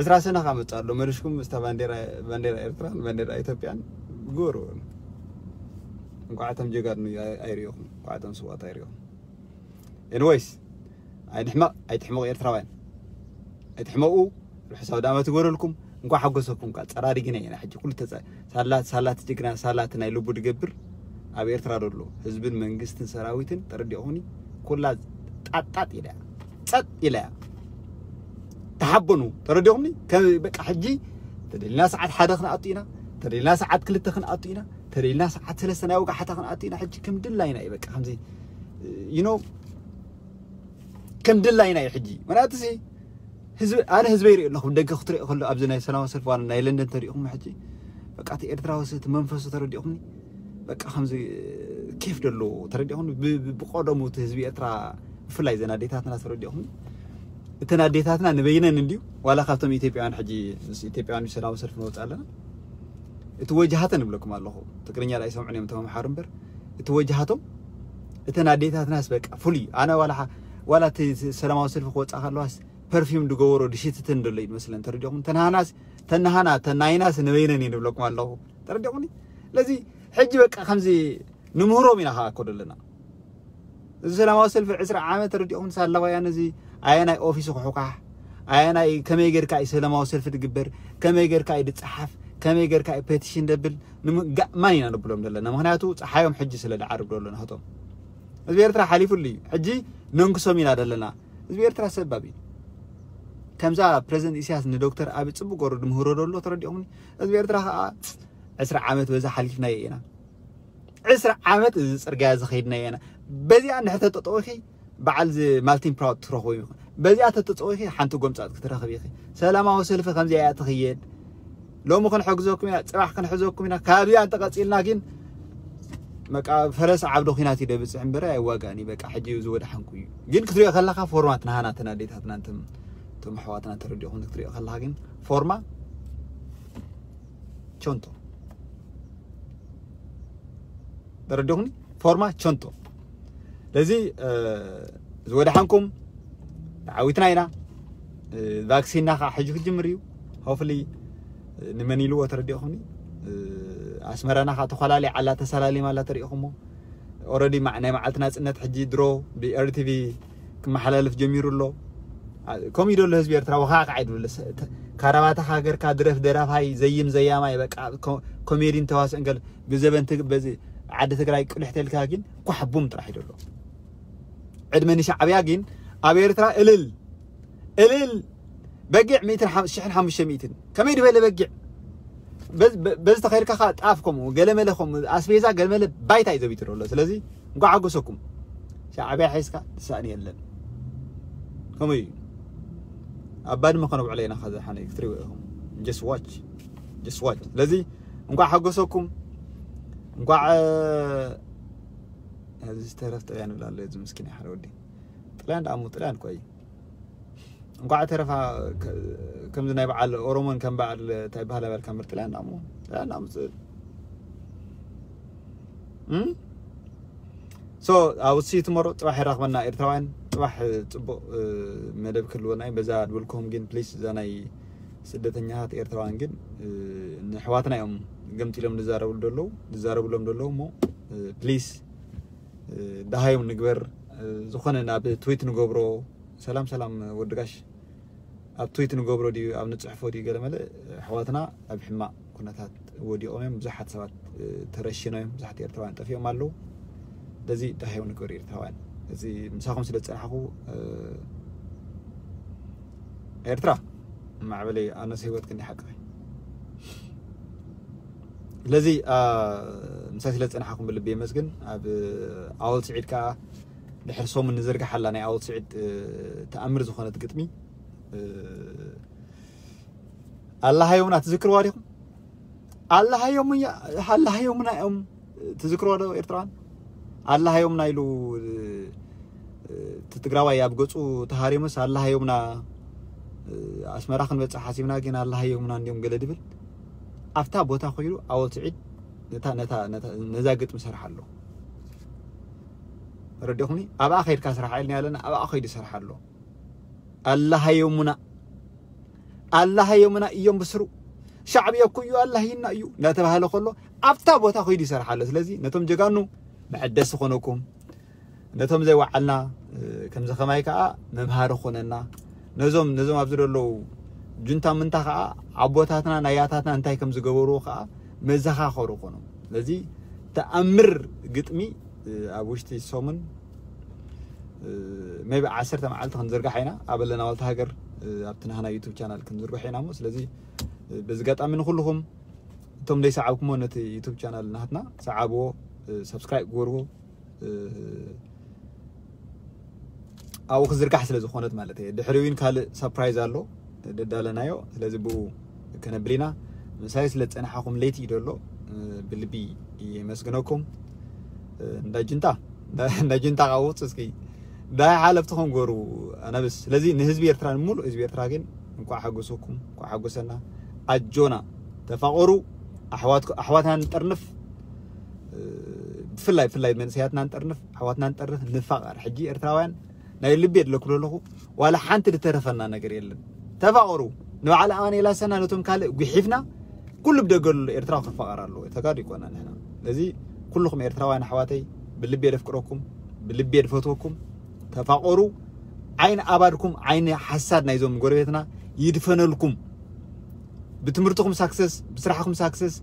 ዕስራ ሰነ ካመፃ ኣሎ፣ መሊስኩም ምስታ ባንዴራ፣ ባንዴራ ኤርትራን ባንዴራ ኢትዮጵያን ግበሩ። እንኳዕ እቶም ጀጋኑ ኣይ-፣ ኣይሪእኹም፣ እንኳዕ እቶም ስዋት ኣይሪእኹም። ኤኒዌይስ፣ ኣይንሕመቕ፣ ኣይትሕመቑ ኤርትራውያን። ኣይትሕመቑ፣ ርሑስ ኣውደ ዓመት ይግበረልኩም። እንኳዕ ሓጎሰኩም። ካ ጸራሪግና ኢና ሕጂ ኩሉ ተጸ-፣ ሳላት፣ ሳላት ጅግና፣ ሳላት ናይ ልቡ ድገብር ኣብ ኤርትራ ዘሎ ህዝብን መንግስትን ሰራዊትን ተረዲኹኒ። ኩላ ጣጣጥ ኢላ እያ። ጸጥ ኢላ እያ። ተሓበኑ። ተረዲኹምኒ? ከ-፣ በቃ ሕጂ ተደሊና ሰዓት ሓደ ክንኣቱ ኢና። ተደሊና ሰዓት ክልተ ክንኣቱ ኢና። ተደሊና ሰዓት ሰለስተ ናይ ወጋሕታ ክንኣቱ ኢና። ሕጂ ከም ድላይና እዩ። በቃ ከምዚ፣ you know፣ ከም ድላይና እዩ ሕጂ። ምክንያቱ ሲ ህዝቢ፣ ኣነ ህዝበይ ይርኢ ኣለኹ። ደገ ክትሪኦ ከሎ ኣብዚ ናይ ሰላማዊ ሰልፊ ዋላ ናይ ለንደን ተሪኢኹም ሕጂ በቃ እቲ ኤርትራዊ ሲ እቲ መንፈሱ ተረዲኹምኒ። በቃ ከምዚ ኬፍ ደሎ ተረዲኹምኒ። ብ-፣ ብ-፣ ብቀደሙ እቲ ህዝቢ ኤርትራ ብፍላይ ዘን ኣዴታትና ተረዲኹምኒ። እተን ኣዴታትና ንበይነን እንድዩ ዋላ ካብቶም ኢትዮጵያውያን ሕጂ ምስ ኢትዮጵያውያን ሰላማዊ ሰልፊ ንወፅእ ኣለና። እቲ ወጅሃተን እብለኩም ኣለኹ። ትግርኛ ዳኣ ይሰምዑን እዮም ተመምሓሩ እምበር እቲ ወጅሃቶም እተን ኣዴታትናስ በቃ ፍሉይ። ኣነ ዋላ ሓ-፣ ዋላ እቲ ሰላማዊ ሰልፊ ክወፅኣ ከለዋስ ፐርፊም ድገበሮ ድሽትትን ደሎ እዩ መስለን። ተረዲኹም? ተናሃናስ፣ ተናሃና፣ ተናይናስ ንበይነን እዩ ንብለኩም ኣለኹ። ተረዲኹምኒ? ስለዚ ሕጂ በቃ ከምዚ ንምህሮም ኢና ከዓ እኮ ደለና። እዚ ሰላማዊ ሰልፊ ዕስራ ዓመት ተረዲኹም? ሳላዋያን እዚ ኣየናይ ኦፊስ ክሑካሕ፣ ኣየናይ ከመይ ጌርካ እዩ ሰላማዊ ሰልፊ ድግበር፣ ከመይ ጌርካ እዩ ድፀሓፍ፣ ከመይ ጌርካ እዩ ፔቲሽን ደብል፣ ንምጋእማን ኢና ንብሎም ዘለና። ምክንያቱ ፀሓዮም ሕጂ ስለ ድዓርብ ደሎ ናቶም። ህዝቢ ኤርትራ ሓሊፉሉ እዩ። ሕጂ ነንክሶም ኢና ደለና። ህዝቢ ኤርትራ ሰባብ እዩ። ከምዛ ፕረዚደንት ኢሳያስ ንዶክተር ኣቢ ጽቡቅ ገሩ ድምህሮ ደሎ ተረዲኹምኒ? ህዝቢ ኤርትራ ከዓ ዕስራ ዓመት በዛ ሓሊፍናዮ ኢና። ዕስራ ዓመት እዚ ጽርግያ እዚ ኸይድናዮ ኢና። በዚኣ እንድሕር ተጠጠዊኺ በዓል እዚ ማልቲን ፕራውድ ትረኽቡ ኢኹ። በዚኣ ተተጸዊኺ ሓንቲ ጎምጻት ክትረኽብ ኢኺ። ሰላማዊ ሰልፊ ከምዚኣ እያ ትኽየድ። ሎሚ ክንሕግዘኩም ኢና፣ ጽባሕ ክንሕዘኩም ኢና። ካብዚኣ እንተቐጺልና ግን በቃ ፈረስ ዓብደ ኲናት እዩ ደብጽሕ እምበረ ኣይዋጋእን እዩ። በቃ ሕጂ እዩ ዝወዳሓንኩ እዩ። ግን ክትሪኦ ከለኻ ፎርማት ናሃና እተን ኣዴታትና እንተም-፣ እቶም ኣሕዋትና እንተረዲኹም ክትሪኦ ከለኻ ግን ፎርማ ቾንቶ። ተረዲኹምኒ? ፎርማ ቾንቶ። ስለዚ፣ እ፣ ዝወዳሓንኩም ተዓዊትና ኢና። እ፣ ቫክሲንና ከዓ ሕጂ ክጅምር እዩ። ሆፍሊ ንመን ኢልዎ ተረዲኹምኒ? እ፣ ኣስመራና ከዓ ተኾላሊ ዓላ ተሰላሊማ ኣላ ተሪኢኹሞ። ኦረዲ ማ-፣ ናይ መዓልቲ ናጽነት ሕጂ ድሮ ብ-፣ ኤር ቲ ቪ ክመሓላለፍ ጀሚሩ ኣሎ። ኣ-፣ ከምኡ እዩ ደሎ ህዝቢ ኤርትራ፣ ወኻዕካዕ ኣይድብለ። ሰ-፣ ተ-፣ ካራባታኻ ገርካ ድረፍ ደራፋይ፣ ዘይም ዘያማይ፣ በቃ ኮ-፣ ኮሜዲን ተዋስእን ገለ ብዘበን ትግ-፣ በዚ ዓዲ ትግራይ ቅልሕ ተልካ ግን ኳሕ ቡም ጥራሕ እዩ ደሎ። ዕድመ ንሻዕብያ ግን ኣብ ኤርትራ እልል፣ እልል፣ በጊዕ ሚእትን ሓም-፣ ሽሕን ሓሙሽተ ሚእትን። ከመይ ድበለ በጊዕ? በዝ-፣ በ-፣ በዚ ተኸይድካ ኸዓ ጣፍ ከምኡ፣ ገለመለ ከምኡ፣ ኣስቤዛ ገለመለ ባይታ እዩ ዘቢጡ ደሎ። ስለዚ እንኳዕ ሓጎሰኩም። ሻዕብያ ሒዝካ ትሳእኒ የለን። ከምኡ እዩ። ኣብ ባድመ ከነውዕሎ ኢና፣ ከዛ ሓነ ክትሪእዎ ኢኹም። Just watch። Just watch። ስለዚ እንኳዕ ሓጎሰኩም። እንኳዕ፣ እ፣ እዚ ዝተረፍ ጥልያን ይብል ኣሎ፣ እዚ ምስኪን ሓደ ወዲ። ጥልያን ደኣ እሞ ጥልያን እኮ እዩ። እንኳዕ ተረፋ፣ ከ-፣ ከምዚ ናይ በዓል ኦሮሞን ከም በዓል እንታይ በሃላ በልካ ምር ጥልያን ደኣ እሞ፣ ጥልያን ደኣ እሞ ጽ-፣ እም? So፣ I will see you tomorrow። ጽባሕ ይራኽበና ኤርትራውያን። ጽባሕ ጽቡቕ፣ እ፣ መደብ ክህልወና እዩ። በዛ ድብልኩም ግን ፕሊስ እዛ ናይ ስደተኛታት ኤርትራውያን ግን፣ እ፣ ንኣሕዋትና እዮም ገምጢሎም ዝዛረብሉ ዘለዉ፣ ዝዛረብሎም ዘለዉ እሞ፣ እ፣ ፕሊስ፣ እ፣ ደሃዮም ንግበር። እ፣ ዝኾነ ናብ ትዊት ንገብሮ። ሰላም ሰላም ወዲ ጋሽ። ኣብ ትዊት ንገብሮ ድዩ ኣብ ንጽሕፎ ድዩ ገለ መለ ኣሕዋትና ኣብ ሕማቕ ኩነታት ወዲቖም እዮም። ብዙሓት ሰባት፣ እ፣ ተረሺኖም እዮም። ብዙሓት ኤርትራውያን ጠፊኦም ኣለዉ። ስለዚ ደሃዮም ንግበር ኤርትራውያን። እዚ ምሳኹም ስለ ዝጸናሕኩ፣ እ፣ ኤርትራ ማዕበለይ ኣነስ ህይወት ክንዲ ሓቂ። ስለዚ፣ አ፣ ምሳይ ስለ ዝጸናሕኩም ብልቢ የመስግን። ኣብ ኣወል ስዒድ ከኣ ድሕሪ ሰሙን ንዝርግሓላ ናይ ኣወል ስዒድ፣ እ፣ ተኣምር ዝኾነት ግጥሚ፣ እ፣ ኣላሃዮምና ትዝክርዋ ዲኹም? ኣላሃዮም-፣ ኣላሃዮምና እዮም ትዝክርዋ ዶ ኤርትራውያን? ኣላሃዮምና ኢሉ፣ እ፣ እቲ ትግራዋይ ኣብ ገጹ ተሃሪሙስ ኣላሃዮምና፣ እ፣ ኣስመራ ክንበጽሕ ሓሲብና ግን ኣላሃዮምና እንዲዮም ገለ ድብል። ኣብታ ቦታ ኮይሉ ኣወል ስዒድ ነታ፣ ነታ፣ ነታ፣ ነዛ ግጥሚ ሰርሓ ኣሎ። ተረዲኹኒ? ኣብኣ ከይድካ ስራሕ ኢልና ኣለና፣ ኣብኣ ከይዱ ይሰርሕ ኣሎ። ኣላህ የሙና፣ ኣላህ የሙና እዮም ብስሩ። ሻዕብያ እኮ እዩ ኣላህ ይና እዩ እንዳተባሃለ ከሎ ኣብታ ቦታ ከይዱ ይሰርሕ ኣሎ። ስለዚ ነቶም ጀጋኑ መሐደሲ ኮነኩም፣ ነቶም ዘይወዓልና ከምዚ ከማይ ከዓ መምሃሪ ኮነና። ነዞም ነዞም ኣብዚ ዘለዉ ጁንታ ምንታ ከዓ ኣቦታትና ናይ ኣያታትና እንታይ ከም ዝገበርዎ ከዓ መዘኻኸሩ ኮኖም። ስለዚ ተኣምር ግጥሚ ኣብ ውሽጢ ሰሙን ሜቢ ዓሰርተ መዓልቲ ክንዝርጋሕ ኢና። ኣብ ኣለና ዋልታ ሃገር ኣብቲ ናህና ዩቱብ ቻናል ክንዝርግሖ ኢና እሞ ስለዚ በዚ ጋጣሚ ንኩልኹም እቶም ዘይሰዓብኩሞ ነቲ ዩቱብ ቻናል ናትና ሰዓብዎ፣ ሰብስክራይብ ግበርዎ። ኣብኡ ክዝርጋሕ ስለ ዝኾነት ማለት እየ። ድሕሪ እውን ካልእ ሳፕራይዝ ኣሎ ደዳለናዮ። ስለዚ ብኡ ከነብል ኢና። ምሳይ ስለ ዝጸናሓኹም ለይቲ እዩ ደሎ። ብልቢ የመስግነኩም። እንዳ ጅንታ እንዳ ጅንታ ቃውፅ እስኪ ዳይ ሓለፍትኹም ገሩ ኣነብስ። ስለዚ ንህዝቢ ኤርትራ፣ ንሙሉእ ህዝቢ ኤርትራ ግን እንኳዕ ሓጎሰኩም፣ እንኳዕ ሓጎሰና። ኣጆና ተፋቐሩ። ኣሕዋትኩ-፣ ኣሕዋትና ንጠርንፍ። ብፍላይ ብፍላይ መንእሰያትና ንጠርንፍ፣ ኣሕዋትና ንጠርንፍ፣ ንፋቐር። ሕጂ ኤርትራውያን ናይ ልቢ የድለኩ ኣለኹ። ዋላ ሓንቲ ዝተረፈና ነገር የለን። ተፋቐሩ። ንባዕል ኣማኑኤል ኣሰና ነቶም ካልእ ጉሒፍና ኩሉ ብደገ ዘሎ ኤርትራዊ ክፋቐር ኣለዎ። ተጋሩ ይኮና ንሕና። ስለዚ ኩልኹም ኤርትራውያን ኣሕዋተይ ብልቢ የደፍቅረኩም፣ ብልቢ የድፈትወኩም። ተፋቐሩ። ዓይኒ ኣባድኩም ዓይኒ ሓሳድ ናይዞም ጎረቤትና ይድፈነልኩም። ብትምህርትኹም ሳክሰስ፣ ብስራሕኩም ሳክሰስ፣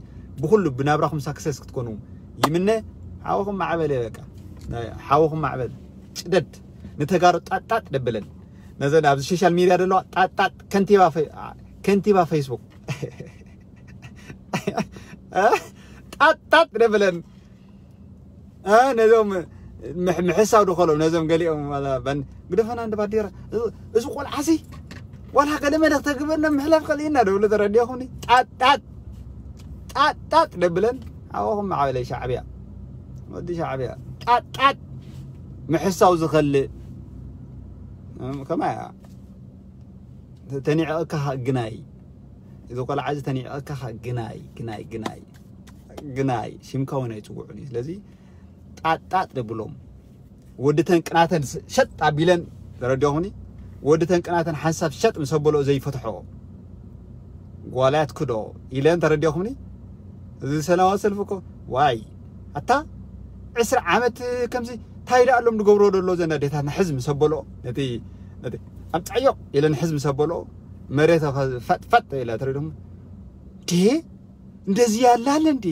ብኩሉ ብናብራኹም ሳክሰስ ክትኮኑ ይምነ። ሓወኹም ማዕበል እየ በቃ። ናይ ሓወኹም ማዕበል ጭደድ ንተጋሩ ጣጣጥ ደብለን። ነዘን ኣብዚ ሶሻል ሚድያ ዘለዋ ጣጣጥ ከንቲባ ፈ-፣ ከንቲባ ፌስቡክ ጣጣጥ ደብለን። ነዞም ምሕ-፣ ምሕሳው ድኸሎም ነዞም ገሊኦም ግደፈና እንደ ባዴራ። እዚ ቆልዓሲ ዋላ ገለ መለ ክተግበና ምሕላፍ ከልኢና ደብሉ ተረዲኹኒ። ጣጣጥ ጣጣጥ ደብለን። ኣወኹም ማዕበለ ሻዕብያ፣ ወዲ ሻዕብያ። ጣጣጥ ምሕሳው ዝኸልእ ከማያ ተኒዕቕካ ግናይ። እዚ ቆልዓ እዚ ተኒዕቕካ ግናይ፣ ግናይ፣ ግናይ፣ ግናይ። ሽምካ እውን ኣይፅውዑን እዩ። ስለዚ ጣጣጥ ደብሎም። ወዲ ተንቅናተን ሸጥ ኣቢለን ተረዲኹምኒ። ወዲ ተንቅናተን ሓንሳብ ሸጥ ምስ ኣበሎ ዘይፈትሖ ጓላት ክዶ ኢለን ተረዲኹምኒ። እዚ ሰላማዊ ሰልፊ እኮ ዋይ ኣታ ዕስራ ዓመት ከምዚ እንታይ ደኣ ኣሎም ዝገብሮ ዘሎ ዘን ኣዴታትና ሕዝ ምስ ኣበሎ ነቲ፣ ነቲ ኣምጻዮ ኢለን ሕዝ ምስ ኣበሎ መሬት ፈጥፈጥ ኢላ ተረዲኹም። ዴ እንደዚህ ያለ አለ እንዴ?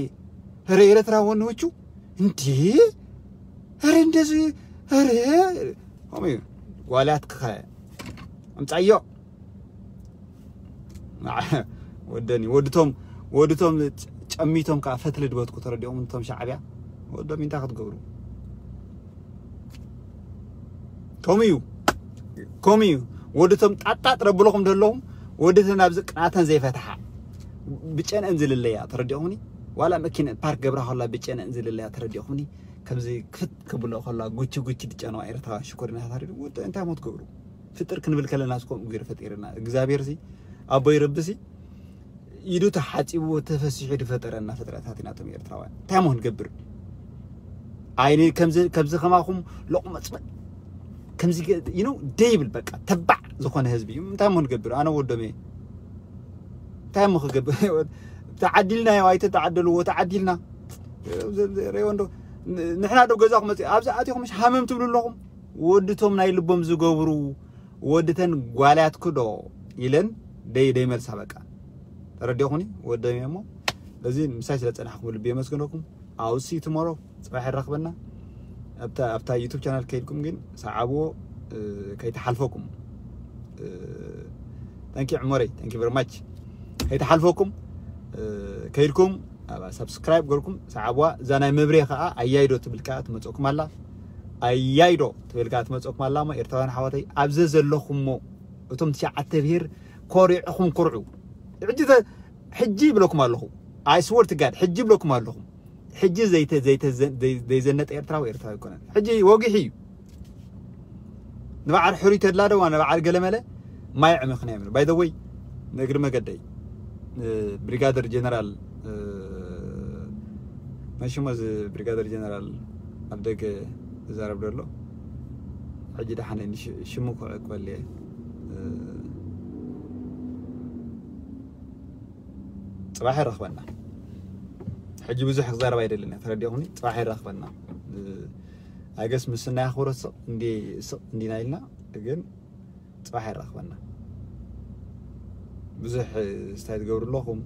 ኧረ ኤርትራ ወንዶቹ እንዴ? ኧረ እንደዚህ ኧረ ሆሚ ጓላት ክኸ ኣምጻዮ ወደኒ ወድቶም ወድቶም ጨሚቶም ከዓ ፈትሊ ድበትኩ ተረዲኦም እቶም ሻዕብያ ወዶም እንታይ ክትገብሩ ከምኡ እዩ። ከምኡ እዩ። ወድቶም ጣጣጥ ረብልኹም ደለኹም ወድተን ኣብዚ ቅናተን ዘይፈትሓ ብጨንአን ዝልለያ ተረዲኹምኒ። ዋላ መኪነ ፓርክ ገብራ ከላ ብጨንአን ዝልለያ ተረዲኹምኒ። ከምዚ ክፍት ክብሎ ከላ ጉቺ ጉቺ ድጨነዋ ኤርትራውያን ሽኮሪና ታሪዱ ወደ እንታይ ሞት ገብሩ ፍጥር ክንብል ከለና እስኮም እግር ፈጢርና እግዚኣብሔር ሲ ኣቦይ ረቢ ሲ ኢዱ ተሓጺቡ ተፈሲሑ ዝፈጠረና ፍጥረታት ኢና እቶም ኤርትራውያን። እንታይ ሞ ክንገብር? ኣይኒ ከምዚ ከምዚ ከማኹም ሎቕመጽመጥ ከምዚ you know ደይብል በቃ ተባዕ ዝኾነ ህዝቢ እዩ። እንታይ ሞ ክንገብር? ኣነ ወዶም እየ። እንታይ ሞ ክገብር? ተዓዲልና ዮ ኣይተ ተዓደልዎ ተዓዲልና ሬወንዶ ንሕና ዶ ገዛኹም መጽ ኣብዚ ኣቲኹም ሽ ሃመም ትብሉ ኣለኹም። ወድቶም ናይ ልቦም ዝገብሩ ወድተን ጓልያትኩ ዶ ኢለን ደይ ደይ መልሳ በቃ ተረዲኹኒ ወደም እሞ በዚ ምሳይ ስለ ጸናሕኩም ልቢ የመስግነኩም። ኣውሲ ትሞሮ ጽባሕ ይራኽበና። ኣብታ ኣብታ ዩቱብ ቻናል ከይድኩም ግን ሰዓብዎ ከይተሓልፈኩም። Thank you ዕሞረይ thank you very much። ከይተሓልፈኩም ከይድኩም ኣብ ሳብስክራይብ ገርኩም ሰዓብዋ። እዛ ናይ መብሬ ከዓ ኣያይዶ ትብል ከዓ ትመፀኩም ኣላ። ኣያይዶ ትብል ከዓ ትመፀኩም ኣላ። እሞ ኤርትራውያን ሓዋተይ ኣብዚ ዘለኹሞ እቶም ትሽዓተ ብሄር ኮሪዕኹም ኩርዑ። ሕጂ ተ-፣ ሕጂ ይብለኩም ኣለኹ። I swear to God ሕጂ ይብለኩም ኣለኹ። ሕጂ ዘይተ-፣ ዘይተ-፣ ዘይ-፣ ዘይዘነጠ ኤርትራዊ ኤርትራዊ ኣይኮነን። ሕጂ ወጊሑ እዩ። ንበዓል ሕሩይ ተድላ ደዋ ንበዓል ገለመለ ማይ ዕመኽና እዮም። By the way ንእግሪ መገደይ ብሪጋደር ጀነራል መሽሞ እዚ ብሪጋደር ጀነራል ኣብ ደገ ዝዛረብ ዘሎ። ሕጂ ደሓን ሽሙ ክዕቅበል እየ። ጽባሕ ይረኽበና። ሕጂ ብዙሕ ክዛረብ ኣይደልን እየ፣ ተረዲኹኒ። ጽባሕ ይረኽበና። ኣገስ ምስና ያኽብሮ ስቕ እንዲ ስቕ እንዲና ኢልና፣ ግን ጽባሕ ይረኽበና። ብዙሕ ስታይ ትገብሩ ኣለኹም።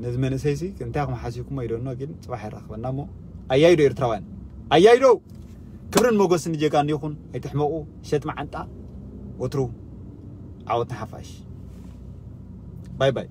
ነዚ መንእሰይ ሲ እንታይ ኢኹም ሓሲብኩሞ ይደኖ፣ ግን ጽባሕ ይረኽበና። እሞ ኣያይዶ ኤርትራውያን፣ ኣያይዶ! ክብርን ሞገስን ንጀጋኑ ይኹን። ኣይትሕመቑ። ሸጥ መዓንጣ። ወትሩ ዓወት ንሓፋሽ። ባይ ባይ።